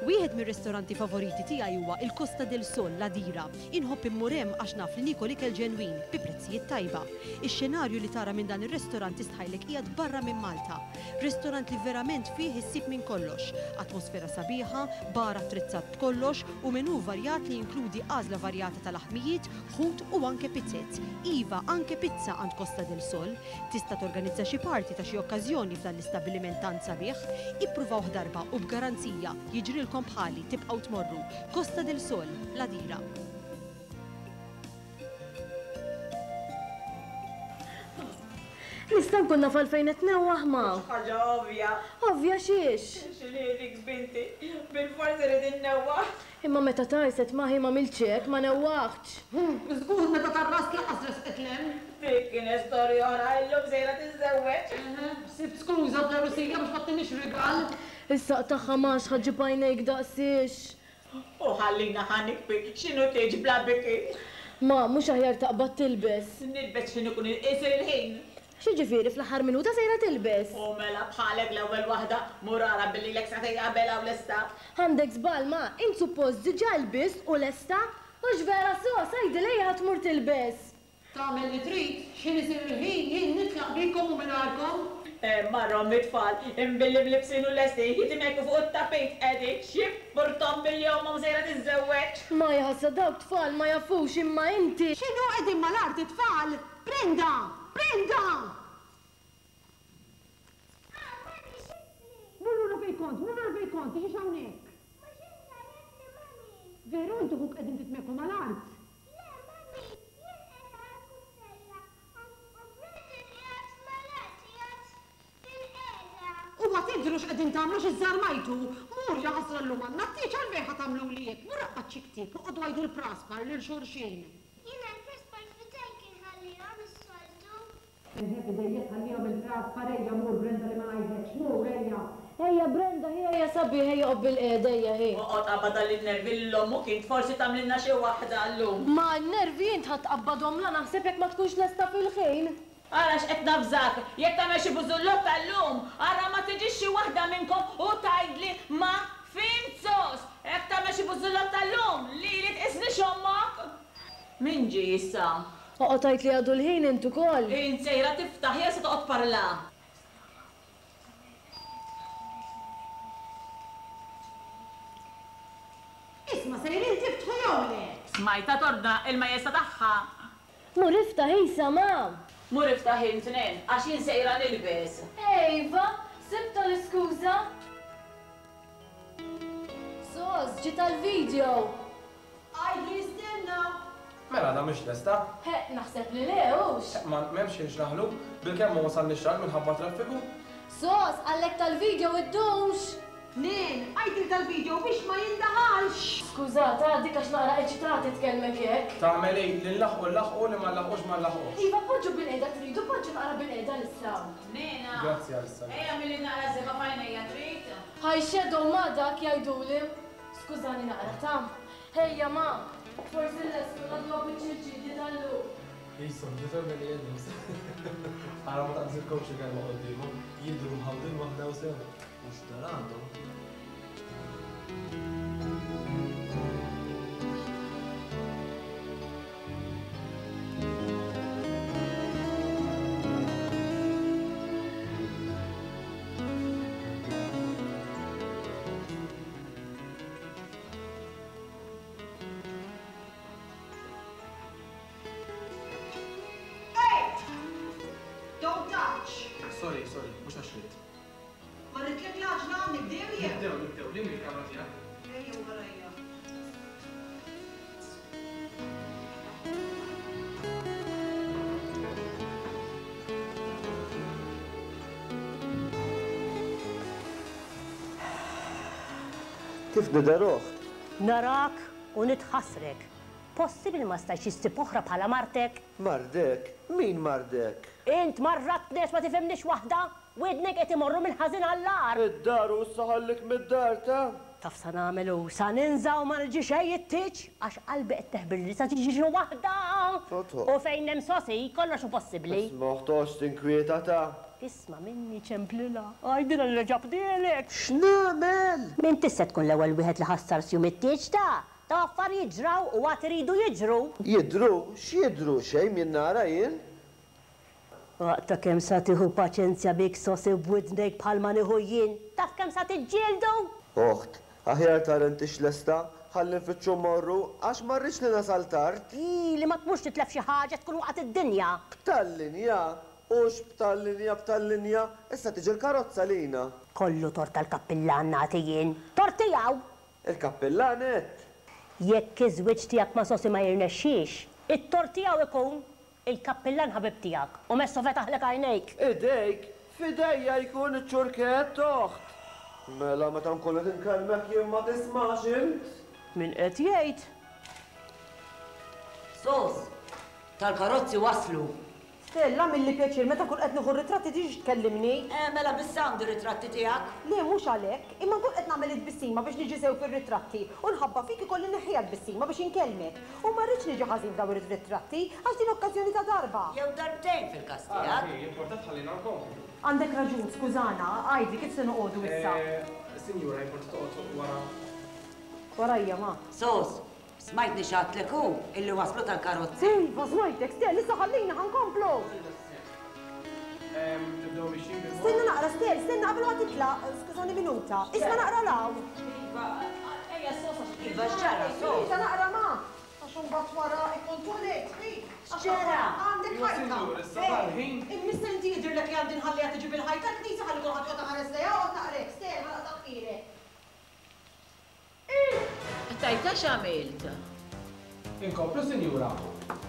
Speaker 17: Wieħed mir-ristoranti favoriti tiegħi huwa il-Costa del Sol l-Għadira. Inħobb immur hemm għax naf li niekol ikel ġenwin, bi prezzijiet tajba. Ix-xenarju li tara minn dan ir-restorant tistħajlek qiegħed barra minn Malta. Restorant li verament fih issib minn kollox. Atmosfera sabiħa, bar attrezzat b'kollox u menù varjat li jinkludi għażla varjata ta' laħmijiet, ħut u anke pizzez. Iva, anke pizza għand Costa del Sol. Tista' torganizza xi party ta' xi okkażjoni f'dan l-istabbiliment tant sabiħ. Ippruvawh darba u b'garanzija, jiġrilkom bħali, tibqgħu tmorru. Costa del Sol, l-Għadira.
Speaker 4: Nista' nkun naf għalfejn qed tnewwaħ ma?
Speaker 19: Ħaġa ovvja.
Speaker 4: Ovvja xiex?
Speaker 19: X'inhi binti? Bilfors irid innewwaħ.
Speaker 4: Imma meta tarset ma hi m'għamiltx hekk, ma newwaħtx.
Speaker 2: Żgur meta tarrast lanqas resqet 'l hemm.
Speaker 19: Dik kienet storja oħra, illum sejra tiżżewweġ.
Speaker 2: Sibt skuża fl-għerusija biex ma ttinix rigal.
Speaker 4: Issa qtagħha m'għax ħa ġġib għajnejk daqsiex.
Speaker 19: U ħallina ħa nikbi, x'inhu tieġ bla biki?
Speaker 4: Ma, mhux aħjar taqbad tilbes?
Speaker 19: Nilbes x'ħin ikun isir il-ħin.
Speaker 4: X'jiġifieri fl-aħħar minuta sejra tilbes?
Speaker 19: U mela bħalek l-ewwel waħda, mur ara billi ilek sagħtejn qabel hawn lesta.
Speaker 4: Għandek żball ma, int suppost diġà lbist u lesta. Hux vera sos, għidilha hija ħa tmur tilbes.
Speaker 2: Tagħmel li trid, x'ħin isir il-ħin jien nitlaq bikom u mingħajrkom.
Speaker 19: Marhom it-tfal, imbilli mlibbsin u lesti, jitimgħeku fuq it-tapit qegħdin, x'jimpurthom billi ommhom sejra tiżżewweġ?
Speaker 4: Ma jaħasra dawk tfal ma jafux imma inti.
Speaker 2: X'inhu qegħdin mal-art it-tfal? Brenda!
Speaker 17: Brenda! Mur lura fejn kont, mur lura fejn kont, tiġix hawnhekk. Veru int u ħuk qegħdin titmegħku mal-art? U ma tidhru x'qegħdin tagħmlu għax iżżarmajtu! Mur, ja ħasra llum għandna t-tieġ għalfejn ħa tagħmluli hekk? Mur aqbad xi ktieb u qogħdu għidu l-praspar lil xulxin.
Speaker 12: Jiena l-praspar f'idejk inħallihom is-soltu.
Speaker 17: Eħe f'idejja tħallihom il-praspar ejja mur Brenda li ma ngħidlekx mur ejja.
Speaker 4: Ejja Brenda ħi ejja sabiħ ejja oqgħod bilqiegħda ejja ħi.
Speaker 19: Oqgħod qabad għal in-nervi lil ommok int forsi tagħmlilna xi waħda llum.
Speaker 4: Ma n-nervi int ħa tqabbadhomlha naħseb jekk ma tkunx lesta fil-ħin.
Speaker 19: Ara x'qed navżak, jekk tagħmel xi bużullotta llum, ara ma tiġix xi waħda minnkom u tgħidli ma fhimt sos! Jekk tagħmel xi bużullotta llum, lili tqisnix ommok! Min ġie issa?
Speaker 4: Oqgħod għid li għadu l-ħin int ukoll.
Speaker 19: Int sejra tiftaħ jew se toqgħod tparla?
Speaker 17: Isma' sejrin tiftħu jew le?
Speaker 19: Smajtha tordna il-majesta tagħha.
Speaker 4: Mur iftaħ isa, ma!
Speaker 19: Mur iftaħ int, Nen, għax jien sejra nilbes.
Speaker 4: Iva, sibtha l-iskuża! Sos, ġiet għall-video!
Speaker 17: Għidlu jistenna!
Speaker 21: Mela għadha mhix lesta?
Speaker 4: Ħeqq, naħseb li le, hux?
Speaker 21: Ħeqq, ma m'hemmx ħin x'naħlu, bilkemm ma wasalniex tard minħabba t-traffiku.
Speaker 4: Sos, qallek tal-video iddumx!
Speaker 17: Nen, għid lil dal-video biex ma jindaħalx!
Speaker 4: Skużat, għaddik għax naqra eċitati tkellmek hekk.
Speaker 21: Tagħmel hi, li nlaħħqu nlaħħqu, li ma nlaħħqux ma nlaħħqux.
Speaker 4: Iva, poġġu bilqiegħda tridu, poġġu naqra bilqiegħda issa.
Speaker 19: Nena!
Speaker 21: Grazzi għalissa.
Speaker 19: Ejja agħmilli naqra żebgħa f'għajnejja trid?
Speaker 4: Hi shadow ma dak jgħiduli. Skużani naqra ta. Ejja ma! Forsi nlestu ngħadduha biċċiet ġiddi tal-lum.
Speaker 21: Qishom ġiser beni Adams. Ara ma taqbżilkomx il-kelma quddiemhom, jidhru mħawdin waħda u sew. U x'dar għandhom?
Speaker 17: Ej! Don't touch!
Speaker 21: Sorry, sorry, mhux għax ridt.
Speaker 17: Marritlek l-għaġla, nibdew jew?
Speaker 21: Nibdew, nibdew, liem hi l-kamra tiegħek?
Speaker 17: Ejjew warajja.
Speaker 20: Kif nidher oħt?
Speaker 13: Narak u nitħassrek. Possibbli ma stajtx issib oħra bħala martek?
Speaker 20: Mardek? Min mardek?
Speaker 13: Int marratni għax ma tifhimnix waħda! Widnejk qed imorru mill-ħażin għall-agħar!
Speaker 20: Id-dar u issa ħallik mid-dar, ta?
Speaker 13: Taf sa nagħmel hu, sa ninża' u ma niġi xejn it-tieġ, għax qalbi qed teħbirli li sa tiġi xi waħda!
Speaker 20: Totò.
Speaker 13: U fejn hemm sosi, kollox hu possibbli.
Speaker 20: Isma' oħt toqgħodx tinkwieta, ta?
Speaker 13: Isma' minni, ċemplilha, għidilha li reġa' bdielek!
Speaker 20: X'nagħmel?
Speaker 13: M'intix se tkun l-ewwel wieħed li ħassar sjum it-tieġ, ta? Ta' affarijiet ġraw u għad iridu jiġru!
Speaker 20: Jidhru? X'jidhru? Xejn m'jien nara jien.
Speaker 13: Aqta' kemm sa tieħu paċenzja bik sosi b'widnejk bħalma nieħu jien, taf kemm sa tiġġieldu?
Speaker 20: Oħt, aħjar tara intix lesta, ħalli nfittxu mmorru, għax ma rridx li nasal tard.
Speaker 13: Ii, li ma tmurx titlef xi ħaġa tkun waqgħet id-dinja.
Speaker 20: B'tal-linja? Hux b'tal-linja, b'tal-linja, issa tiġi l-karozza lina.
Speaker 13: Kollu tort tal-kappillan nagħti jien. Tort tiegħu!
Speaker 20: Il-kappillan għedt?
Speaker 13: Jekk iż-żwieġ tiegħek ma' Sosi ma jirnexxix, it-tort tiegħu ikun! Il-kappillan ħabib tiegħek u messu fetaħlek għajnejk.
Speaker 20: Idejk? F'idejja jkun iċ-ċurkett, oħt! Mela meta nkun qed inkellmek jien ma tismax int?
Speaker 13: Min qed jgħid?
Speaker 1: Sos, tal-karozzi waslu.
Speaker 17: Stella, Agħmilli pjaċir, meta nkun qed nieħu r-ritratti tiġix tkellimni.
Speaker 1: Eh, mela bis-sound ir-ritratti tiegħek.
Speaker 17: Le, mhux għalhekk, imma nkun qed nagħmel it-tbissima biex niġi sew fir-ritratti u nħabba fik ikolli nneħħiha t-tbissima biex inkellmek. U ma rridx niġi ħażin f'dawn ir-ritratti, għax din okkażjoni ta' darba.
Speaker 1: Jew darbtejn fil-każ
Speaker 21: Ara,
Speaker 1: tiegħek.
Speaker 21: hi, importa tħallina nkomplu.
Speaker 17: Għandek raġun, skużana, għidli kif se noqogħdu issa?
Speaker 21: Eh, sinjura, importa toqgħod wara.
Speaker 17: Warajja, ma.
Speaker 1: Sos, Smajtni x'għadtlek hu, illi waslu tal-karozzi?
Speaker 17: Iva, smajtek, Stel, issa ħallina ħa nkomplu!
Speaker 21: Nibdew mixjin bil-mod.
Speaker 17: Stenna naqra, Stel, stenna qabel ma titlaq, skużani minuta. Isma' naqra 'l hawn.
Speaker 19: Iva, ejja sos għax.
Speaker 1: Iva, x'ġara, sos?
Speaker 17: Minuta naqra ma! Għax imbagħad wara ikun too late, hi.
Speaker 1: X'ġara?
Speaker 2: Għandek ħajta.
Speaker 21: Sinjur, issa dal-ħin.
Speaker 2: Imma inti jidhirlek li għandi nħalliha tiġi bil-ħajta l-knisja ħalli kulħadd joqgħod iħares lejha, oqgħod naqrek, Stell, ħa naqta' ħfirek.
Speaker 19: Tajta x'għamilt?
Speaker 21: Inkomplu, sinjura.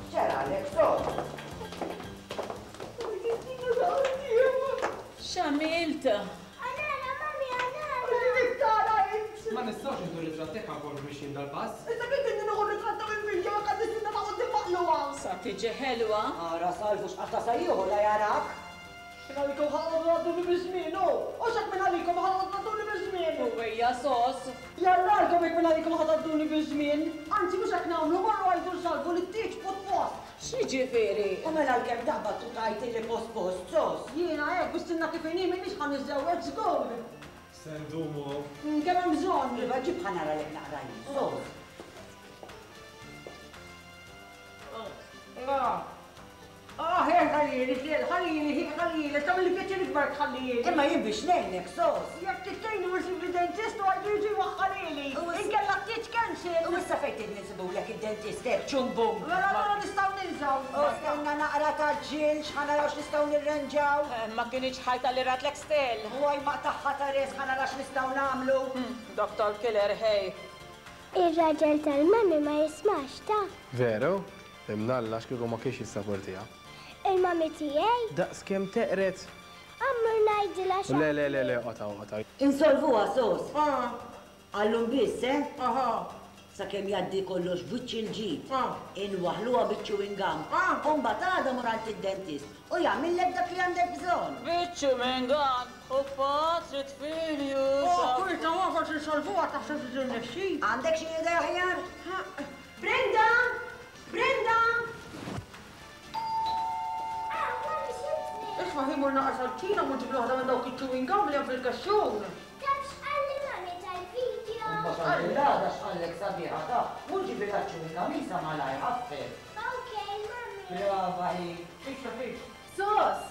Speaker 1: X'ġaralek, Sos?
Speaker 19: X'għamilt?
Speaker 12: Anara, mami, anara!
Speaker 2: Tara int!
Speaker 21: Ma nistgħux nieħdu ritratt hekk ankomplu mixjin dal-pass.
Speaker 2: Issa kif inni nieħu ritratt ta' mill-video jekk għandi sinna ta' quddiem maqlugħa?
Speaker 19: Sa tiġi ħelwa.
Speaker 1: Ara Salvu x'qatta' sa jieħu la jarak.
Speaker 2: Minn għalikom ħa noqogħdu ngħadduli biż-żmien, hu! U x'hekk minn għalikom ħa noqogħdu ngħadduli biż-żmien!
Speaker 19: U ejja sos!
Speaker 2: Jarralkom jekk minn għalikom ħa tgħadduli biż-żmien! Anzi mhux hekk nagħmlu, morru għidu 'l Salvu li t-tieġ put post!
Speaker 19: X'jiġifieri?
Speaker 1: U mela għalkemm taqbad u tgħid illi post post, sos!
Speaker 2: Jiena hekk, bis-sinna kif inhi m'iniex ħa niżżewweġ żgur!
Speaker 21: Se ndumu hawn.
Speaker 2: Kemm hemm bżonn!
Speaker 1: Iva ġib ħa naralek naqra jien, sos!
Speaker 2: Ah, eh, ħallili, Xiel, ħallili, hi, ħallili, tagħmilli pjaċir ikbar tħallili.
Speaker 1: Imma jien biex ngħinek, sos.
Speaker 2: Jekk trid tgħinni mur sibli dentist u għajdu jiġi jwaħħalili. Inkella t-tieġ cancel.
Speaker 1: U issa fejn trid ninsibulek id-dentist hekk, ċumbum.
Speaker 2: Mela allura nistgħu ninżgħu.
Speaker 1: U stenna naqra ta' ġil x'ħa naraw x'nistgħu nirranġaw.
Speaker 19: Ma kinitx ħajta li ratlek Stell.
Speaker 1: U għaj maqtagħha ta' res ħa nara x'nistgħu nagħmlu.
Speaker 19: Doctor Killer, hey.
Speaker 12: Ir-raġel tal-mami ma jismax, ta?
Speaker 21: Veru? Imnalla għax kieku ma kienx jissaportiha.
Speaker 12: Il-mami tiegħi?
Speaker 21: Daqs kemm teqred!
Speaker 12: Ammur ngħidilha xi.
Speaker 21: Le, le, le, le, oqgħod hawn, oqgħod hawn.
Speaker 1: Insolvuha, sos. Għallum biss, eh? Sakemm jgħaddi kollox b'wiċċ il-ġid. Inwaħħluha biċ-chewing gum. U mbagħad għada mur għand id-dentist u jagħmillek dak li għandek bżonn.
Speaker 19: Biċ-chewing gum u patri tfilju.
Speaker 2: Oh, kulta ma forsi nsolvuha taħseb li tirnexxi.
Speaker 1: Għandek xi idea aħjar?
Speaker 2: Brenda! Brenda! Isma' ħi mur naqra sal-kċina mur ġibli waħda minn dawk iċ-chewing gum li hemm fil-kexxun.
Speaker 12: Taf x'qalli mami tal-video?
Speaker 1: Imma x'għandilha x'qallek sabiħa ta' mur ġibilha ċ-chewing gum isa malajr ħaffef.
Speaker 12: Okej, mami.
Speaker 1: Brava hi.
Speaker 2: Fix, fix.
Speaker 4: Sos!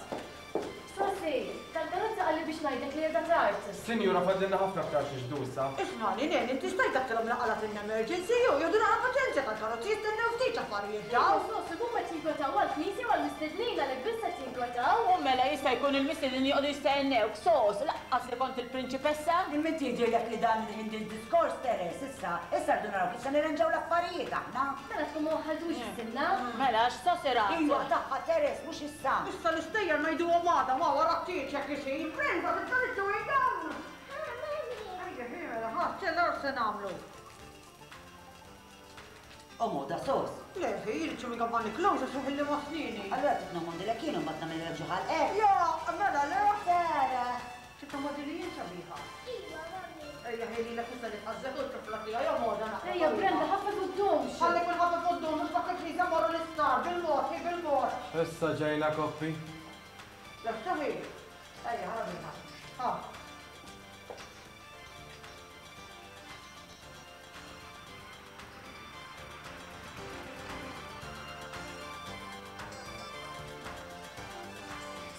Speaker 4: Sosi, tal-karozza qalli biex ngħidlek li qiegħda tard.
Speaker 21: Sinjura fadlilna ħafna aktar xi xdu issa.
Speaker 2: Ismagħni, Nen, inti stajt tgħidilhom li qalgħetilna emergency jew jieħdu naqra paċenzja tal-karozzi jistennew ftit affarijiet dawn.
Speaker 4: Sos, huma qed jinkwetaw għall-knisja u għall-mistednin għalhekk biss qed jinkwetaw.
Speaker 19: U mela jista' jkun il-mistednin joqogħdu jistennewk, sos, laqqas li kont il-prinċipessa.
Speaker 1: Imma inti jidhirlek li dan il-ħin din diskors Teres, issa, issa rridu naraw kif se nirranġaw l-affarijiet aħna.
Speaker 4: Mela tkun ma waħħaltux is-sinna.
Speaker 19: Mela x'sos irat?
Speaker 1: Iva tagħha Teres, mhux issa.
Speaker 2: Issa l-istejjer ngħiduhom għada ma wara t-tieġ jekk isir. Brenda, titfa' chewing gum! Ejja, ħi, mela, ħa, ċella se nagħmlu.
Speaker 1: O moda sos.
Speaker 2: Le, ħi, il-chewing gum ma niklux għax iħilli ma' snieni.
Speaker 1: Allura trid nomondilek jien u mbagħad nagħmilek ġo ħalqek.
Speaker 2: Ja, mela le.
Speaker 1: Sara.
Speaker 2: Trid tommodili jien sabiħa.
Speaker 12: Iva, mami.
Speaker 2: Ejja, ħi, lilek issa li tqażżek u t-tifla tiegħi jew moda naqra.
Speaker 4: Ejja, Brenda, ħafna quddumx.
Speaker 2: Ħallik minn ħafna quddum, mhux dak il-knisja morru l-isptar, bil-mod, hi bil-mod.
Speaker 21: Issa ġejna koppi.
Speaker 2: Lesta ħi. Ejja, ħa minna. Ha.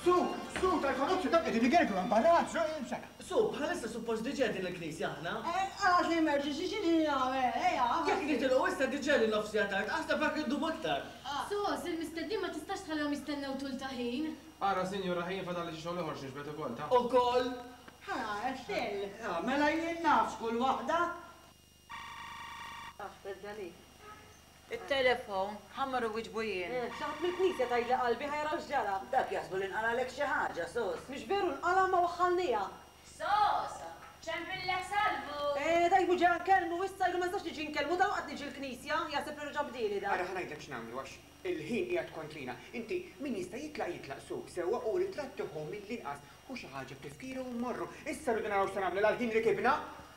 Speaker 14: Su, su, tal-karozzi dak qegħdin igergru hemm barra,
Speaker 5: Su, bħalissa suppost diġà din il-knisja aħna.
Speaker 2: Għax l-emergency xi nagħmel, ejja.
Speaker 5: Jekk nitilgħu issa diġà li nofs siegħa tard, aħseb hekk indum aktar.
Speaker 4: Sos, il-mistednin ma tistax tħallihom jistennew tul ta' ħin.
Speaker 21: Ara, sinjura, ħin fadalli xi xogħol ieħor x'niġbed ukoll, ta'.
Speaker 5: Ukoll?
Speaker 2: Ha, Estelle.
Speaker 1: Mela jien naf x'kull waħda.
Speaker 19: Il-telefon, ħa mmur inwieġbu jien.
Speaker 2: Xi ħadd mill-knisja tgħidli qalbi ħa jaraw x'ġara.
Speaker 1: Dak jaħsbu li nqalgħalek xi ħaġa, sos.
Speaker 2: Mhix veru nqala' ma waħħalniha.
Speaker 19: Sos, ċempillek Salvu.
Speaker 2: Eh, tajbu ġa nkellmu issa ilu ma nistax niġi nkellmu dalwaqt niġi l-knisja, jaħseb li reġa' bdieli dak.
Speaker 11: Ara ħa ngħidlek x'nagħmlu għax il-ħin qiegħed kontrina. Inti min jista' jitlaq jitlaq su sewwa u ritratt tieħu mill-inqas hu xi ħaġa b'tifkira u mmorru. Issa rridu naraw x'se nagħmlu l-ħin rikibna.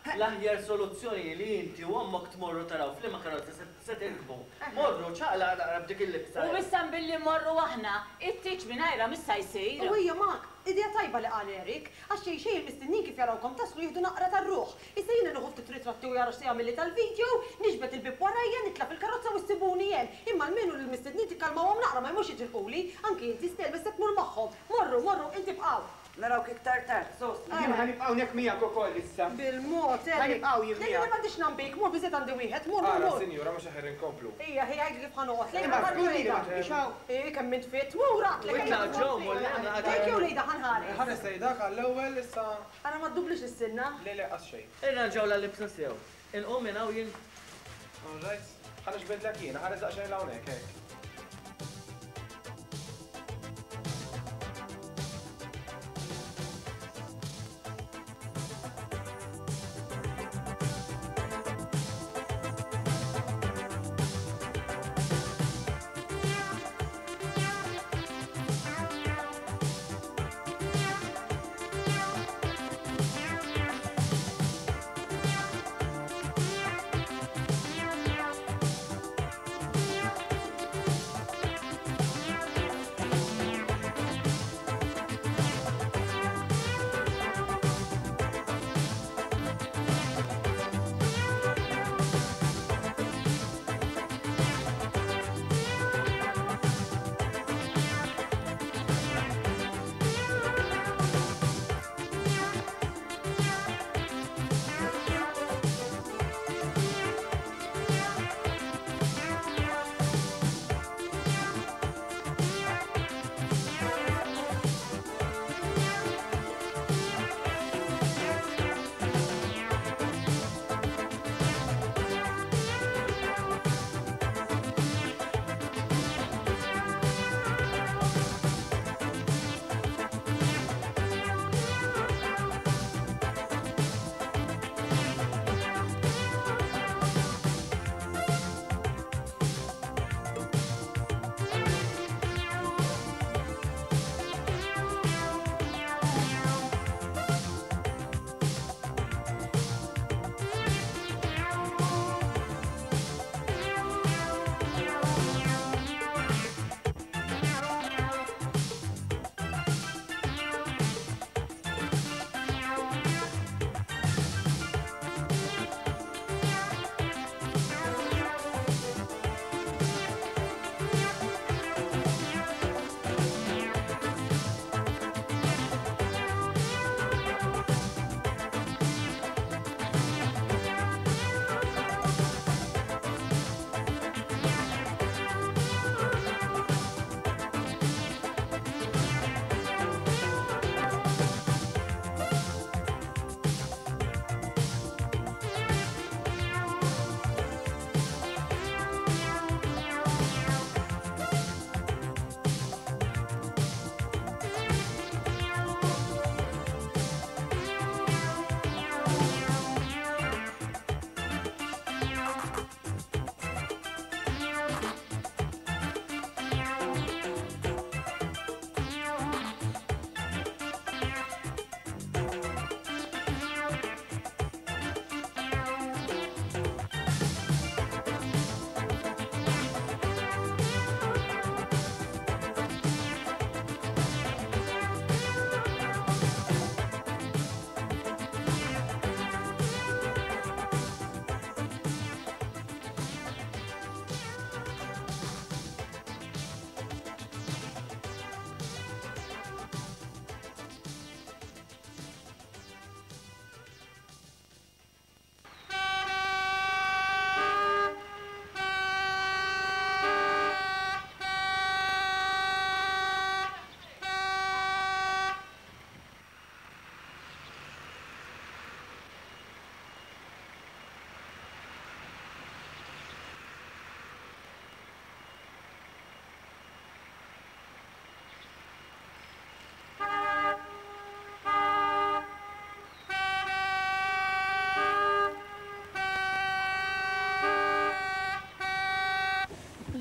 Speaker 5: L-aħjar soluzzjoni li inti u ommok tmorru taraw f'liema karozza se tirkbu. Morru ċaqlaq naqra b'dik il-libsa.
Speaker 19: U issa billi mmorru aħna, it-tieġ mingħajrha mhux sa jsir.
Speaker 2: U hija mak, idea tajba li qal Eric, għax xejn xejn il-mistednin kif jarawkom taslu jieħdu naqra tar-ruħ. Issa jiena nieħu ftit ritratti u jara x'se jagħmilli tal-video, niġbed il-bieb warajja, nitla' fil-karozza u ssibuni hemm. Imma almenu lill-mistednin tikkalmawhom naqra ma jmux jitilquli, anki inti Stell biss se tmur magħhom. Morru, morru, inti bqgħu.
Speaker 1: Narawk iktar tard, sos.
Speaker 11: Jien ħa nibqa' hawnhekk miegħek ukoll issa.
Speaker 2: Bil-mod, Eric.
Speaker 11: Ħa nibqgħu jien
Speaker 2: Le,
Speaker 11: miegħek.
Speaker 2: le, m'għandix nambik, mur biżżejjed għandi wieħed, mur, mur,
Speaker 21: Ara,
Speaker 2: mur.
Speaker 21: sinjura, mhux aħjar inkomplu.
Speaker 2: Ejja, ħi, għidli kif ħa noqgħod. Lejla,
Speaker 11: Imma
Speaker 2: ħa
Speaker 11: żgur li ma
Speaker 2: nħares.
Speaker 11: tibqiex hawn.
Speaker 2: Ej, kemm int fit, mur, għadlek.
Speaker 14: U itlaq ġew, mur, le, għadlek.
Speaker 2: Lejk jew lejda ħa nħares.
Speaker 21: Ħares lejn dak għall-ewwel issa.
Speaker 2: Ara ma ddublix is-sinna.
Speaker 21: Le, le, qas xejn.
Speaker 14: Irranġawlha l-libsa sew. Inqum minn hawn jien.
Speaker 21: All right. Ħa nixbidlek jiena, ħares daqsxejn 'l hawnhekk, hekk.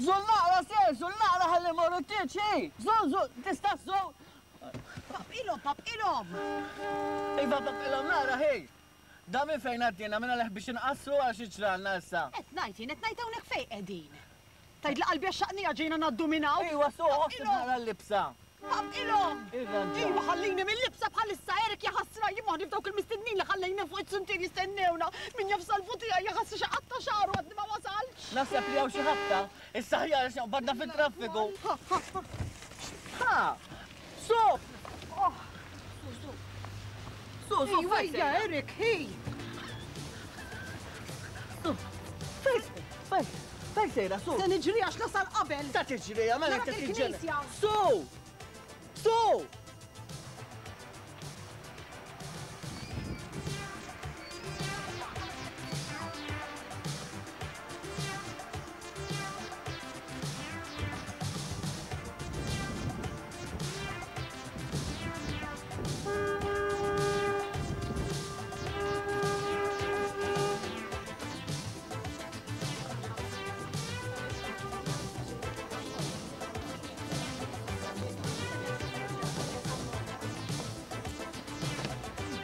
Speaker 14: Żul naqra ser, żul naqra ħalli mmorru t-tieġ, hi! Żul, żul, tista' żżul!
Speaker 2: Papqilhom, papqilhom!
Speaker 14: Iva, papqilhom naqra, hi! Da minn fejn għaddiena, minn għalih biex inqassru għal xi ġralna issa.
Speaker 2: Qed ngħid jien, qed ngħid hawnhekk fejn qegħdin. Tgħid li qalbi għaxxaqniha ġejna ngħaddu minn hawn.
Speaker 14: Iwa, suq, oħseb naqra l-libsa.
Speaker 2: Papqilhom!
Speaker 14: Irranġa.
Speaker 2: Iwa, ħallini mill-libsa bħalissa, Eric jaħasra, jien moħħni f'dawk il-mistednin li ħallejna fuq it-suntier jistennewna. Min jaf salvu tiegħi jaħasra xi qatta' xagħru għadni ma wasaltx.
Speaker 14: Naħseb li hawn xi ħabta. Issa aħjar għax nqbadna fit-traffiku. Ha! Suq!
Speaker 2: Oh! Su, su.
Speaker 14: Su, su,
Speaker 3: Ejwa,
Speaker 14: fejn
Speaker 3: ejja,
Speaker 14: sejra?
Speaker 3: Eric, hi!
Speaker 14: Su, fejn, fejn, fejn sejra, su?
Speaker 3: Se niġri għax nasal qabel.
Speaker 14: Ta' tiġri, mela
Speaker 3: Narak
Speaker 14: ta' tiġri.
Speaker 3: il-knisja.
Speaker 14: Su! Su!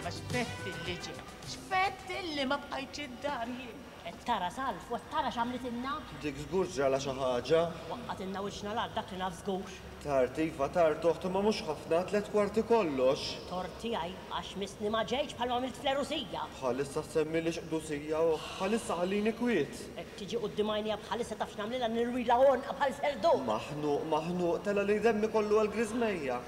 Speaker 19: Ma xfett illi ġej, xfett illi ma bqajtx id-dar jien.
Speaker 13: Qed tara Salv, u qed tara x'għamlitilna?
Speaker 20: Dik żgur ġralha xi ħaġa.
Speaker 13: Waqqgħatilna wiċċna l-art dak li naf żgur.
Speaker 20: Tard iva, tard oħt, imma mhux ħafna, 45 kollox.
Speaker 13: Tort tiegħi għax missni ma ġejtx bħalma għamilt fl-għerusija.
Speaker 20: Bħalissa ssemmilix qdusija oħt, bħalissa ħallini kwiet.
Speaker 13: Qed tiġi quddiem għajnejja bħalissa taf x'nagħmlilha nirwilha għonqha bħal serduk.
Speaker 20: Maħnuq, maħnuq, tela' li demmi kollu għall-griżmejja.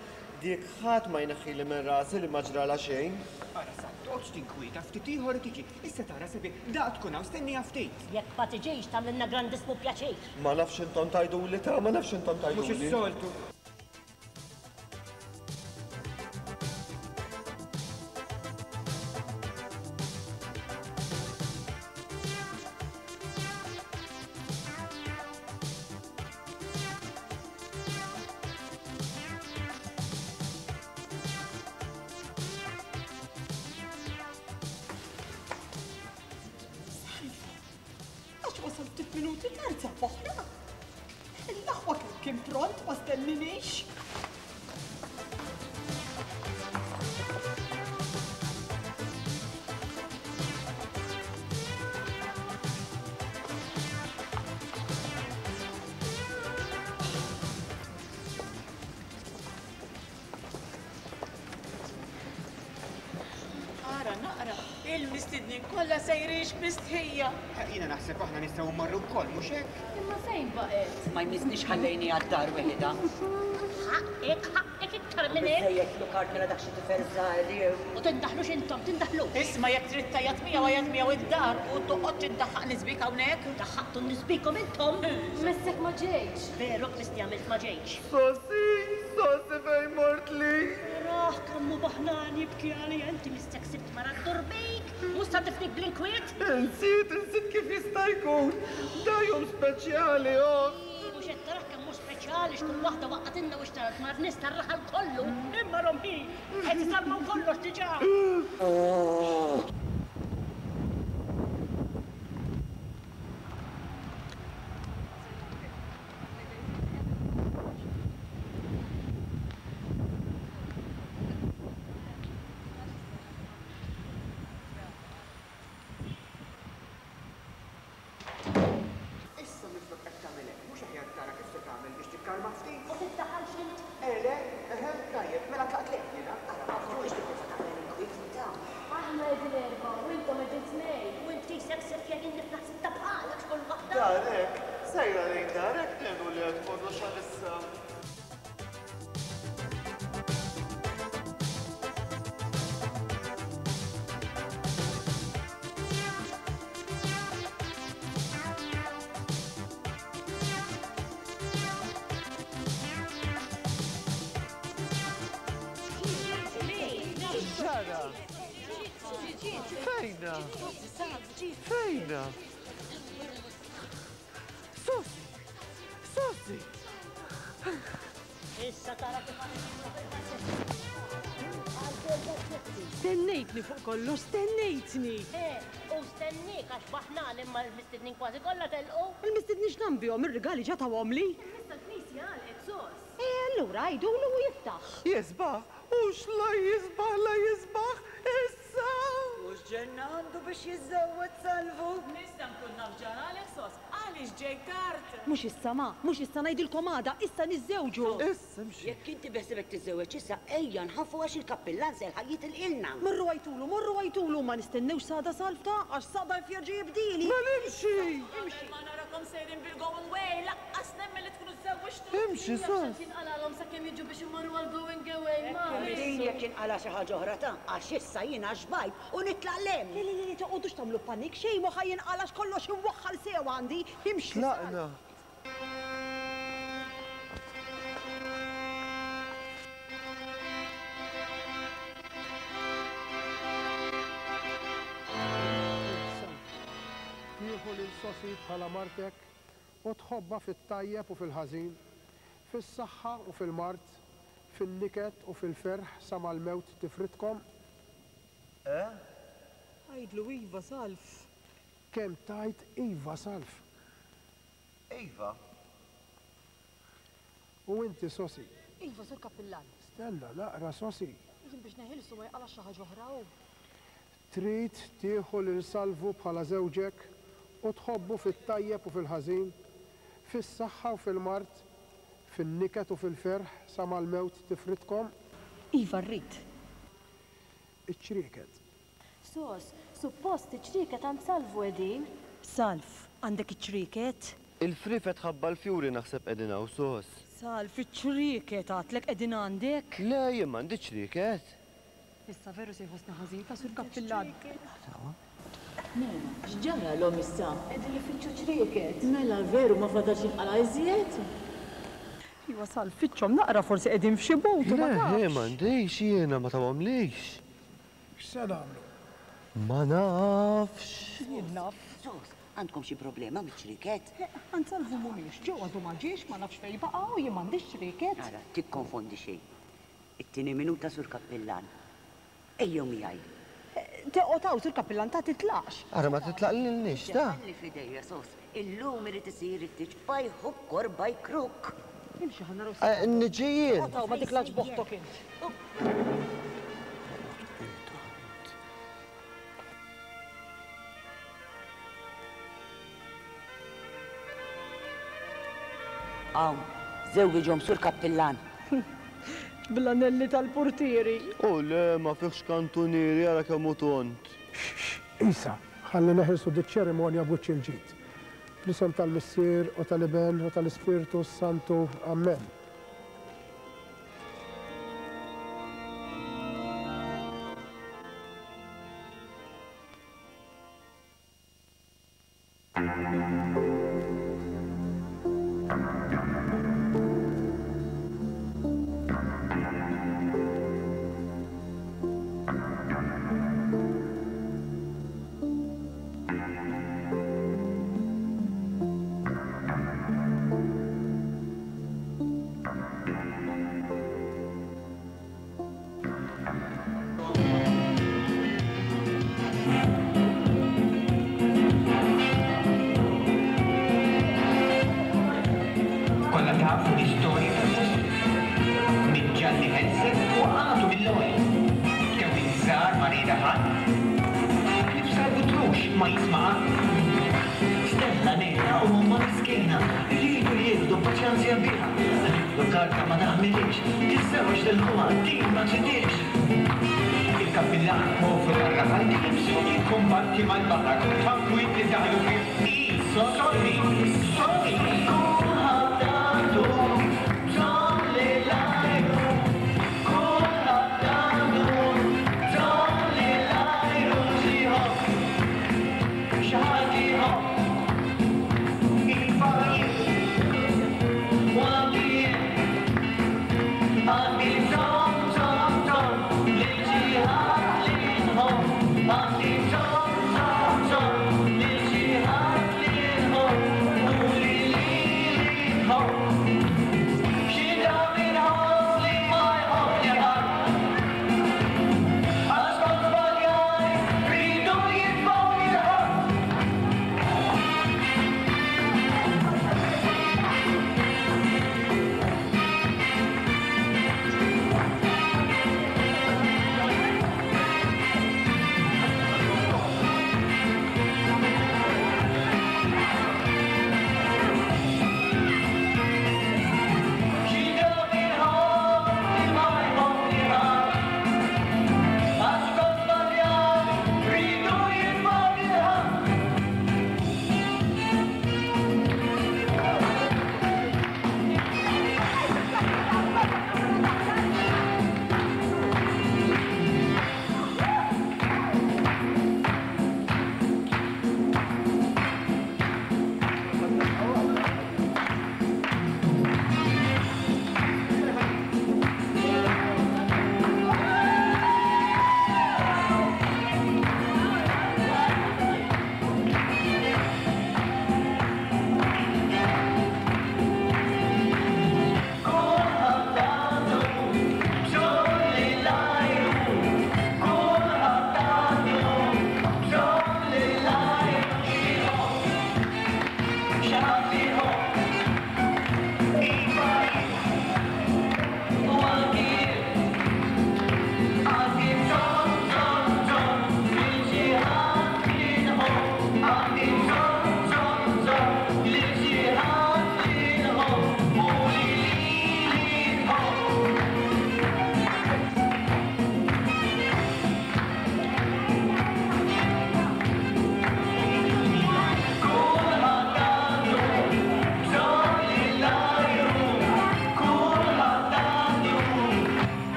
Speaker 20: Dik ħadd ma jneħħili minn rasi li ma ġralha xejn.
Speaker 11: Ara Salv, toqgħodx tinkwieta, ftit ieħor u tiġi. Issa tara sabiħ, daqt tkun hawn, stenniha ftit.
Speaker 13: Jekk ma tiġix tagħmlilna grandissmu pjaċir.
Speaker 20: Ma nafx intom tgħiduli ta, ma nafx intom tgħiduli.
Speaker 11: Mhux is-soltu.
Speaker 3: Salvu, għax wasal ftit minuti tard sab oħra. L-aħwa kemm kien pront ma stenninix.
Speaker 19: Ara naqra, il-mistednin kollha sejrix mistħija.
Speaker 11: Jiena naħseb aħna nistgħu mmorru wkoll, mhux hekk?
Speaker 4: Imma fejn baqgħet?
Speaker 1: Ma jmissniex ħallejniha d-dar weħidha.
Speaker 13: Ħaqqek, ħaqqek iktar minn hekk.
Speaker 1: Biżżejjed Lukard mela dak xi tifel żgħir jew.
Speaker 13: U tindaħlux intom, tindaħlux.
Speaker 19: Isma' jekk trid tgħajjat miegħu għajjat miegħu id-dar u toqgħodx iddaħħaq nisbik hawnhekk.
Speaker 13: Daħħaqtu nisbikom intom.
Speaker 4: Messek ma ġejtx.
Speaker 13: Veru Kristi għamilt ma ġejtx.
Speaker 20: Sosi, Sosi fejn mort li?
Speaker 13: Raħ kemm hu baħnan jibki għalija inti missek sibt mara ddur bik, mhux sa tifnik bl-inkwiet.
Speaker 20: Insiet, insiet kif jista' jkun. Da jum speċjali, oħt.
Speaker 13: Mhux qed tarah kemm hu speċjali x'kull waħda waqqgħatilna u xtarat mar-nies tar-raħal kollu. Imma rom hi, qed isarmaw kollox diġà.
Speaker 11: Issa minflok qed tagħmel hekk, mhux aħjar tara kif se tagħmel biex tikkalma ftit?
Speaker 13: U tiddaħħalx int?
Speaker 11: Eh le, eħe, tajjeb, mela tlaqt lejk jiena.
Speaker 13: Ara ma tkunx tipprova tagħmel inkwiet inta.
Speaker 4: Aħna qegħdin erbgħa u intom qegħdin tnejn.
Speaker 13: U int qisek sefja jien niflaħ sitta bħalek x'kull waħda.
Speaker 20: Darek, sejra lejn darek ngħinu li qed kollox għalissa.
Speaker 5: X'ġara? Fejna? Fejna? Susi! Susi!
Speaker 13: Issa tara kif
Speaker 3: Stennejtni fuq kollox, stennejtni!
Speaker 13: Eh, u stennik għax baħnan imma l-mistednin kważi kollha telqu.
Speaker 3: Il-mistednin x'nambihom ir-rigali ġa tawhomli.
Speaker 4: Issa l-knisja għalqet sos.
Speaker 3: Eh, allura għidulu u jiftaħ.
Speaker 20: Jisbaħ, hux la jisbaħ, la jisbaħ, issa!
Speaker 1: Mhux ġenna għandu biex jiżżewweġ Salvu?
Speaker 19: Nista' nkun naf ġaralek sos, għaliex ġejt tard?
Speaker 3: Mhux issa ma, mhux issa ngħidilkom għada, issa niżżewġu.
Speaker 20: Issa imxi.
Speaker 1: Jekk inti beħsibek tiżżewweġ issa, ejja nħaffu għax il-kappillan se jilħaq jitilqilna.
Speaker 3: Morru għajtulu, morru għajtulu, ma nistennewx s'għada Salv ta' għax s'għada jfjerġa' jibdili.
Speaker 20: Mela imxi!
Speaker 19: Imxi. Ma narakom sejrin bil-going way, laqqas nemmen li tkunu żżewwiġtu.
Speaker 20: Imxi, sos.
Speaker 4: Jinqalalhom sakemm jiġu biex imorru għal going away, ma.
Speaker 1: Din jekk jinqala' xi ħaġa oħra ta' għax issa jiena xbajt u nitlaq 'l hemm.
Speaker 17: Le, le, le, toqgħodux tagħmlu panik, xejn mhu ħa jinqala' għax kollox imwaħħal sew għandi. Imxi.
Speaker 20: Tlaqna.
Speaker 6: Tieħu lil Sosi bħala martek u tħobbha fit-tajjeb u fil-ħażin, fis-saħħa u fil-mard, fin-niket u fil-ferħ sa ma l-mewt tifridkom?
Speaker 20: Eh?
Speaker 17: Għidlu iva, Salv.
Speaker 6: Kemm tgħid iva, Salv?
Speaker 20: Iva.
Speaker 6: U inti, Sosi?
Speaker 17: Iva, Sur Kappillan.
Speaker 6: Stenna naqra, Sosi.
Speaker 17: Jien biex neħilsu ma jinqalax xi ħaġa oħra hu.
Speaker 6: Trid tieħu lil Salvu bħala żewġek u tħobbu fit-tajjeb u fil-ħażin, fis-saħħa u fil-mard, fin-niket u fil-ferħ sa ma l-mewt tifridkom?
Speaker 17: Iva rrid.
Speaker 6: Iċ-ċrieket.
Speaker 4: Sos, suppost iċ-ċrieket għand Salvu qegħdin.
Speaker 17: Salv, għandek iċ-ċrieket?
Speaker 20: Il-friefet ħabba l-fjuri naħseb qegħdin hawn, Sos.
Speaker 17: Salv, iċ-ċrieket għadtlek qegħdin għandek?
Speaker 20: Le, jien m'għandix ċrieket.
Speaker 17: Issa veru se jħossna ħażin ta' Sur Kappillan.
Speaker 3: Mela, x'ġaralhom issa?
Speaker 4: Qegħdin ifittxu ċrieket.
Speaker 3: Mela veru ma fadalx jinqala' iżjed?
Speaker 17: Iva Salv, fittxhom naqra forsi qegħdin f'xi but u ma
Speaker 20: Le,
Speaker 17: tafx.
Speaker 20: m'għandix jiena, ma tawhomlix.
Speaker 6: X'se nagħmlu?
Speaker 20: Ma nafx.
Speaker 17: Jien naf.
Speaker 1: Sos, għandkom xi problema miċ-ċrieket?
Speaker 17: Għand Salvu mhumiex. Ġew għadu ma ġiex, ma nafx fejn baqa' u jien m'għandix ċrieket.
Speaker 1: Ara, tikkonfondi xejn. It-tieni minuta, Sur Kappillan. Ejjew miegħi.
Speaker 17: Teqgħod hawn, Sur Kappillan, ta' titlaqx.
Speaker 20: Ara ma titlaqlilniex, ta'.
Speaker 1: Ħalli f'idejja, Sos. Illum irid isir it-tieġ by hook or by crook.
Speaker 17: Imxi ħa naraw se.
Speaker 20: Niġi jien.
Speaker 17: Oqgħod hawn ma tiklax b'oħtok int.
Speaker 1: Hawn, żewwiġhom Sur Kappillan.
Speaker 17: Bl-anelli tal-purtieri.
Speaker 20: O le, ma fihx kantunieri, ara kemm hu tond.
Speaker 6: Xx, Isa, ħalli neħilsu diċ-ċerimonja b'wiċċ il-ġid. Fl-isem tal-Missier u tal-Iben u tal-Ispirtu s-Santu. Ammen.
Speaker 11: Kollha tafu l-istorja tal-post. Minn Ġanni Ħelsek u għatu mill-ewwel. Bdew iż-żgħar ma rieda ħadd. Ħlief Salvu Trux ma jisma' qatt. Stella nena u ommha miskina riedu jieħdu paċenzja biha. Qaltlu karta ma taħmilhiex, tiżżewweġ lil ħuha din ma tridhiex. Il-kappillan povru tar-raħal kien bżonn jikkumbatti mal-baħar b'tankwiet li daħlu fih hi sorry, sorry. Kulħadd għandu bżonn lill-ajru, kulħadd għandu bżonn lill-ajru xi jħobb, xi ħadd iħobb. Iva jien u anki jien għandi bżonn, bżonn, bżonn lil xi ħadd li nħobb. Għandi bżonn, bżonn, bżonn lil xi ħadd li nħobb.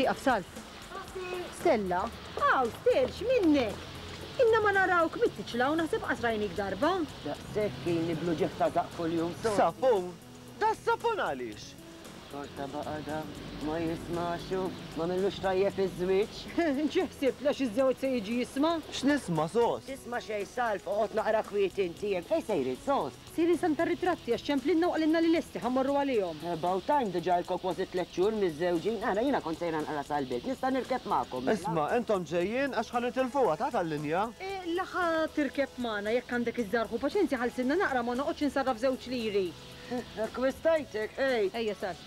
Speaker 17: Ieqaf, Salv. Stella? Aw, Stell, x'minnek? Ilna ma narawk mit-tiċla u naħseb qas rajnik darba.
Speaker 1: Daqshekk ilni bl-uġigħ ta' żaqq kuljum, Sos.
Speaker 5: Sapun? Das-sapun għaliex?
Speaker 1: Xorta baqa' da ma jismax u m'għamillux tajjeb iż-żwieġ.
Speaker 17: Ġie ħsibt l għax iż-żewġ se jiġi jisma'?
Speaker 5: X'nisma', Sos?
Speaker 1: Tisma' xejn, Salv, oqgħod naqra kwiet inti hemm. Fejn sejrin, Sos?
Speaker 17: Sejrin Santa Ritratti għax ċemplinna u qalilna li lesti, ħa mmorru għalihom.
Speaker 1: About time, diġà ilkom kważi tlett xhur miżżewġin. Ara, jiena kont sejra nqra sal-belt, nista' nirkeb magħkom, mela?
Speaker 5: Isma', intom ġejjin għax ħa nitilfuha, ta' tal-linja.
Speaker 17: La ħa tirkeb magħna, jekk għandek iż-żgħar ħu paċenzja ħallsilna naqra ma noqgħodx insarraf żewġ liri.
Speaker 1: Akkwistajtek, ej!
Speaker 17: Ejja, sar.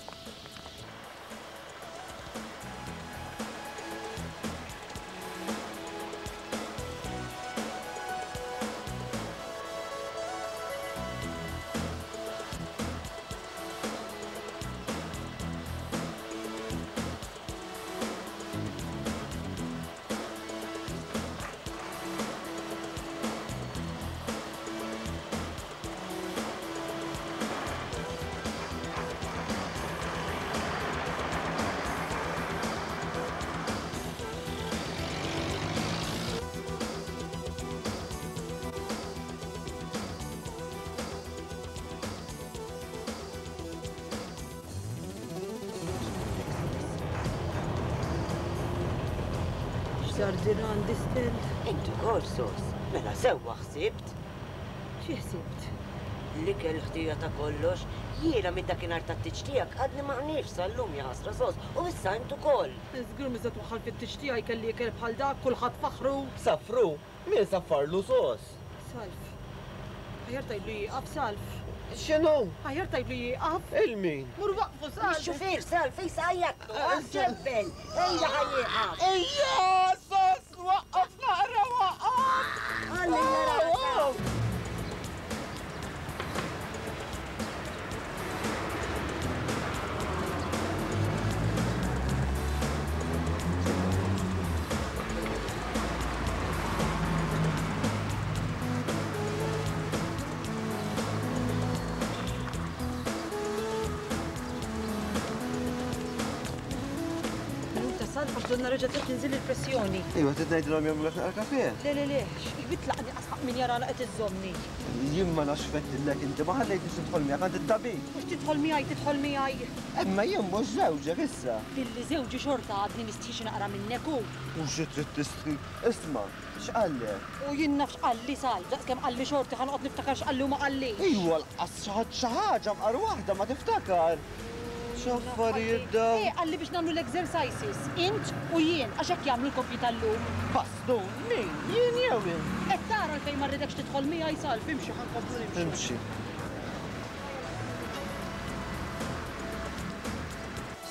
Speaker 17: X'sar din għandi Stell?
Speaker 1: Int ukoll sos. Mela sewwa ħsibt.
Speaker 17: Xi ħsibt?
Speaker 1: L-ikel ħtija ta' kollox. Jiena minn dakinhar tat-tieġ tiegħek għadni ma qniex sal-lum jaħasra sos u issa int ukoll.
Speaker 17: Żgur mhux se twaħħal fit-tieġ tiegħi kelli ikel bħal dak, kulħadd faħħru.
Speaker 5: Saffru? Min saffarlu sos?
Speaker 17: Salv. Aħjar tgħidlu jieqaf, Salv.
Speaker 5: X'inhu?
Speaker 17: Aħjar tgħidlu jieqaf.
Speaker 5: Il min?
Speaker 17: Mur waqqfu, Salv.
Speaker 1: Ix-xufier, Salv, issa għajjatlu, ġebbel. Ejja ħa jieqaf.
Speaker 5: Ejja, sos, waqqaf naqra, waqqaf.
Speaker 1: Ħalli nara.
Speaker 17: Minuta salv għax donna reġgħet qed tinżilli l-pressjoni.
Speaker 5: Iva, trid ngħidilhom jagħmlulek naqra kafè?
Speaker 17: Le, le, le, x'bitlaqni qas ħaqq min jarana qed iżżommni.
Speaker 5: Jien ma nafx x'fettillek inti, ma ħallejtnix nidħol miegħek għand it-tabib.
Speaker 17: Mhux tidħol miegħi, tidħol miegħi.
Speaker 5: Imma jien mhux żewġek issa.
Speaker 17: Billi żewġi xorta għadni mistħi xi naqra minnek u.
Speaker 5: U xi trid tistħi? Isma', x'qallek?
Speaker 17: U jien naf x'qalli Salv, daqskemm qalli xorti ħa noqgħod niftakar x'qalli u ma qallix.
Speaker 5: Iwa lqas xi ħadd xi ħaġa mqar waħda ma tiftakar. X'affarijiet dawn?
Speaker 17: Eh, qalli biex nagħmlu l-exercises, int u jien, għax hekk jagħmlu l-koppji tal-lum.
Speaker 5: Bastun, min? Jien jew int?
Speaker 17: Qed tara għalfejn ma rridekx tidħol miegħi, Salv, imxi ħa nkomplu nimxu.
Speaker 5: Imxi.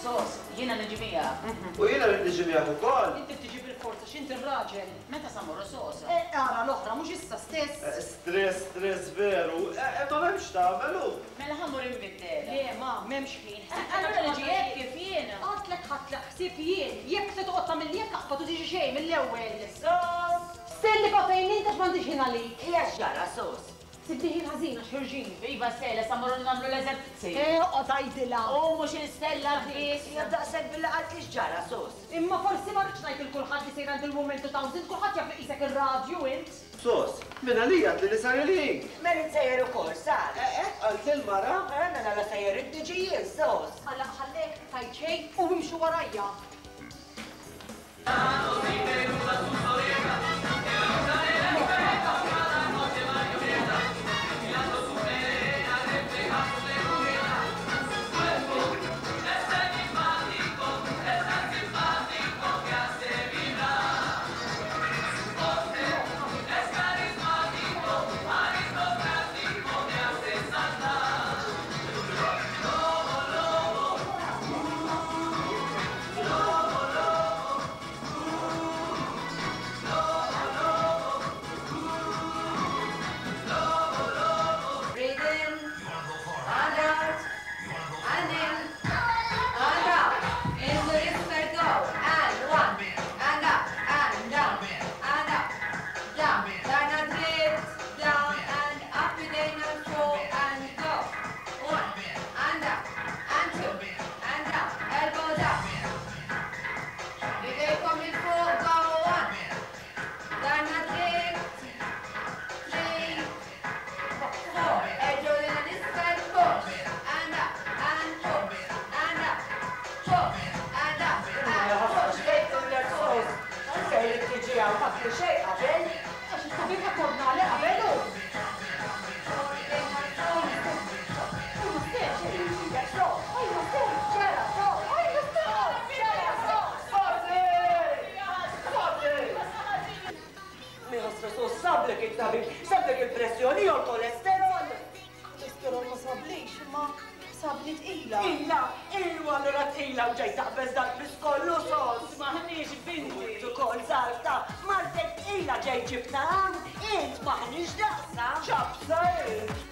Speaker 19: Sos, jiena niġi miegħek.
Speaker 5: U jiena rrid niġi miegħek ukoll.
Speaker 17: Inti tiġi bil-forza x'int ir-raġel.
Speaker 19: Meta sa mmorru sos?
Speaker 17: Eh, ara l-oħra, mhux issa stess.
Speaker 5: Stress, stress veru. Eh, ma m'hemmx x'tagħmel hu.
Speaker 19: Mela ħa mmur inbiddel.
Speaker 17: Le, ma, m'hemmx ħin.
Speaker 19: Allura niġi hekk kif jiena.
Speaker 17: Għadtlek ħadtlek ħsieb jien. Jekk se toqgħod tagħmilli hekk aqbad u tiġi xejn mill-ewwel.
Speaker 1: Sos!
Speaker 17: Stelli ba' fejn int għax m'għandix ħin għalik.
Speaker 1: Hija x'ġara, sos?
Speaker 17: Sibni ħin ħażin għax ħirġin.
Speaker 19: Iva Stella, sa mmorru nagħmlu l-eżerċizzi.
Speaker 17: Eh, oqgħod għidilha.
Speaker 19: U mhux il-Stella biss.
Speaker 1: Hija daqshekk billi qaltli x'ġara, sos.
Speaker 17: Imma forsi ma rridx ngħid lil kulħadd li sejra għand il-Woman 2000, kulħadd jaf li qisek ir-radju int.
Speaker 5: Sos, minn għalija għedtli li sar il-ħin.
Speaker 1: Mela int sejjer ukoll, sar.
Speaker 5: Eh, hekk qaltli l-mara.
Speaker 1: Eh, mela la sejjer int niġi jien, sos.
Speaker 17: Alla ħallek tgħid xejn u imxu warajja.
Speaker 1: it-tabib? Sablek il-pressjoni jew l-kolesterol?
Speaker 2: Kolesterol ma sablix, imma sabni tqila.
Speaker 1: Tqila? Iwa allura tqila u ġej taqbeż dal-piż kollu sos.
Speaker 19: M'aħniex binti.
Speaker 1: Int ukoll Salta, martek tqila ġej ġibtha hawn, int m'aħniex daqsha.
Speaker 5: Ċapsa int!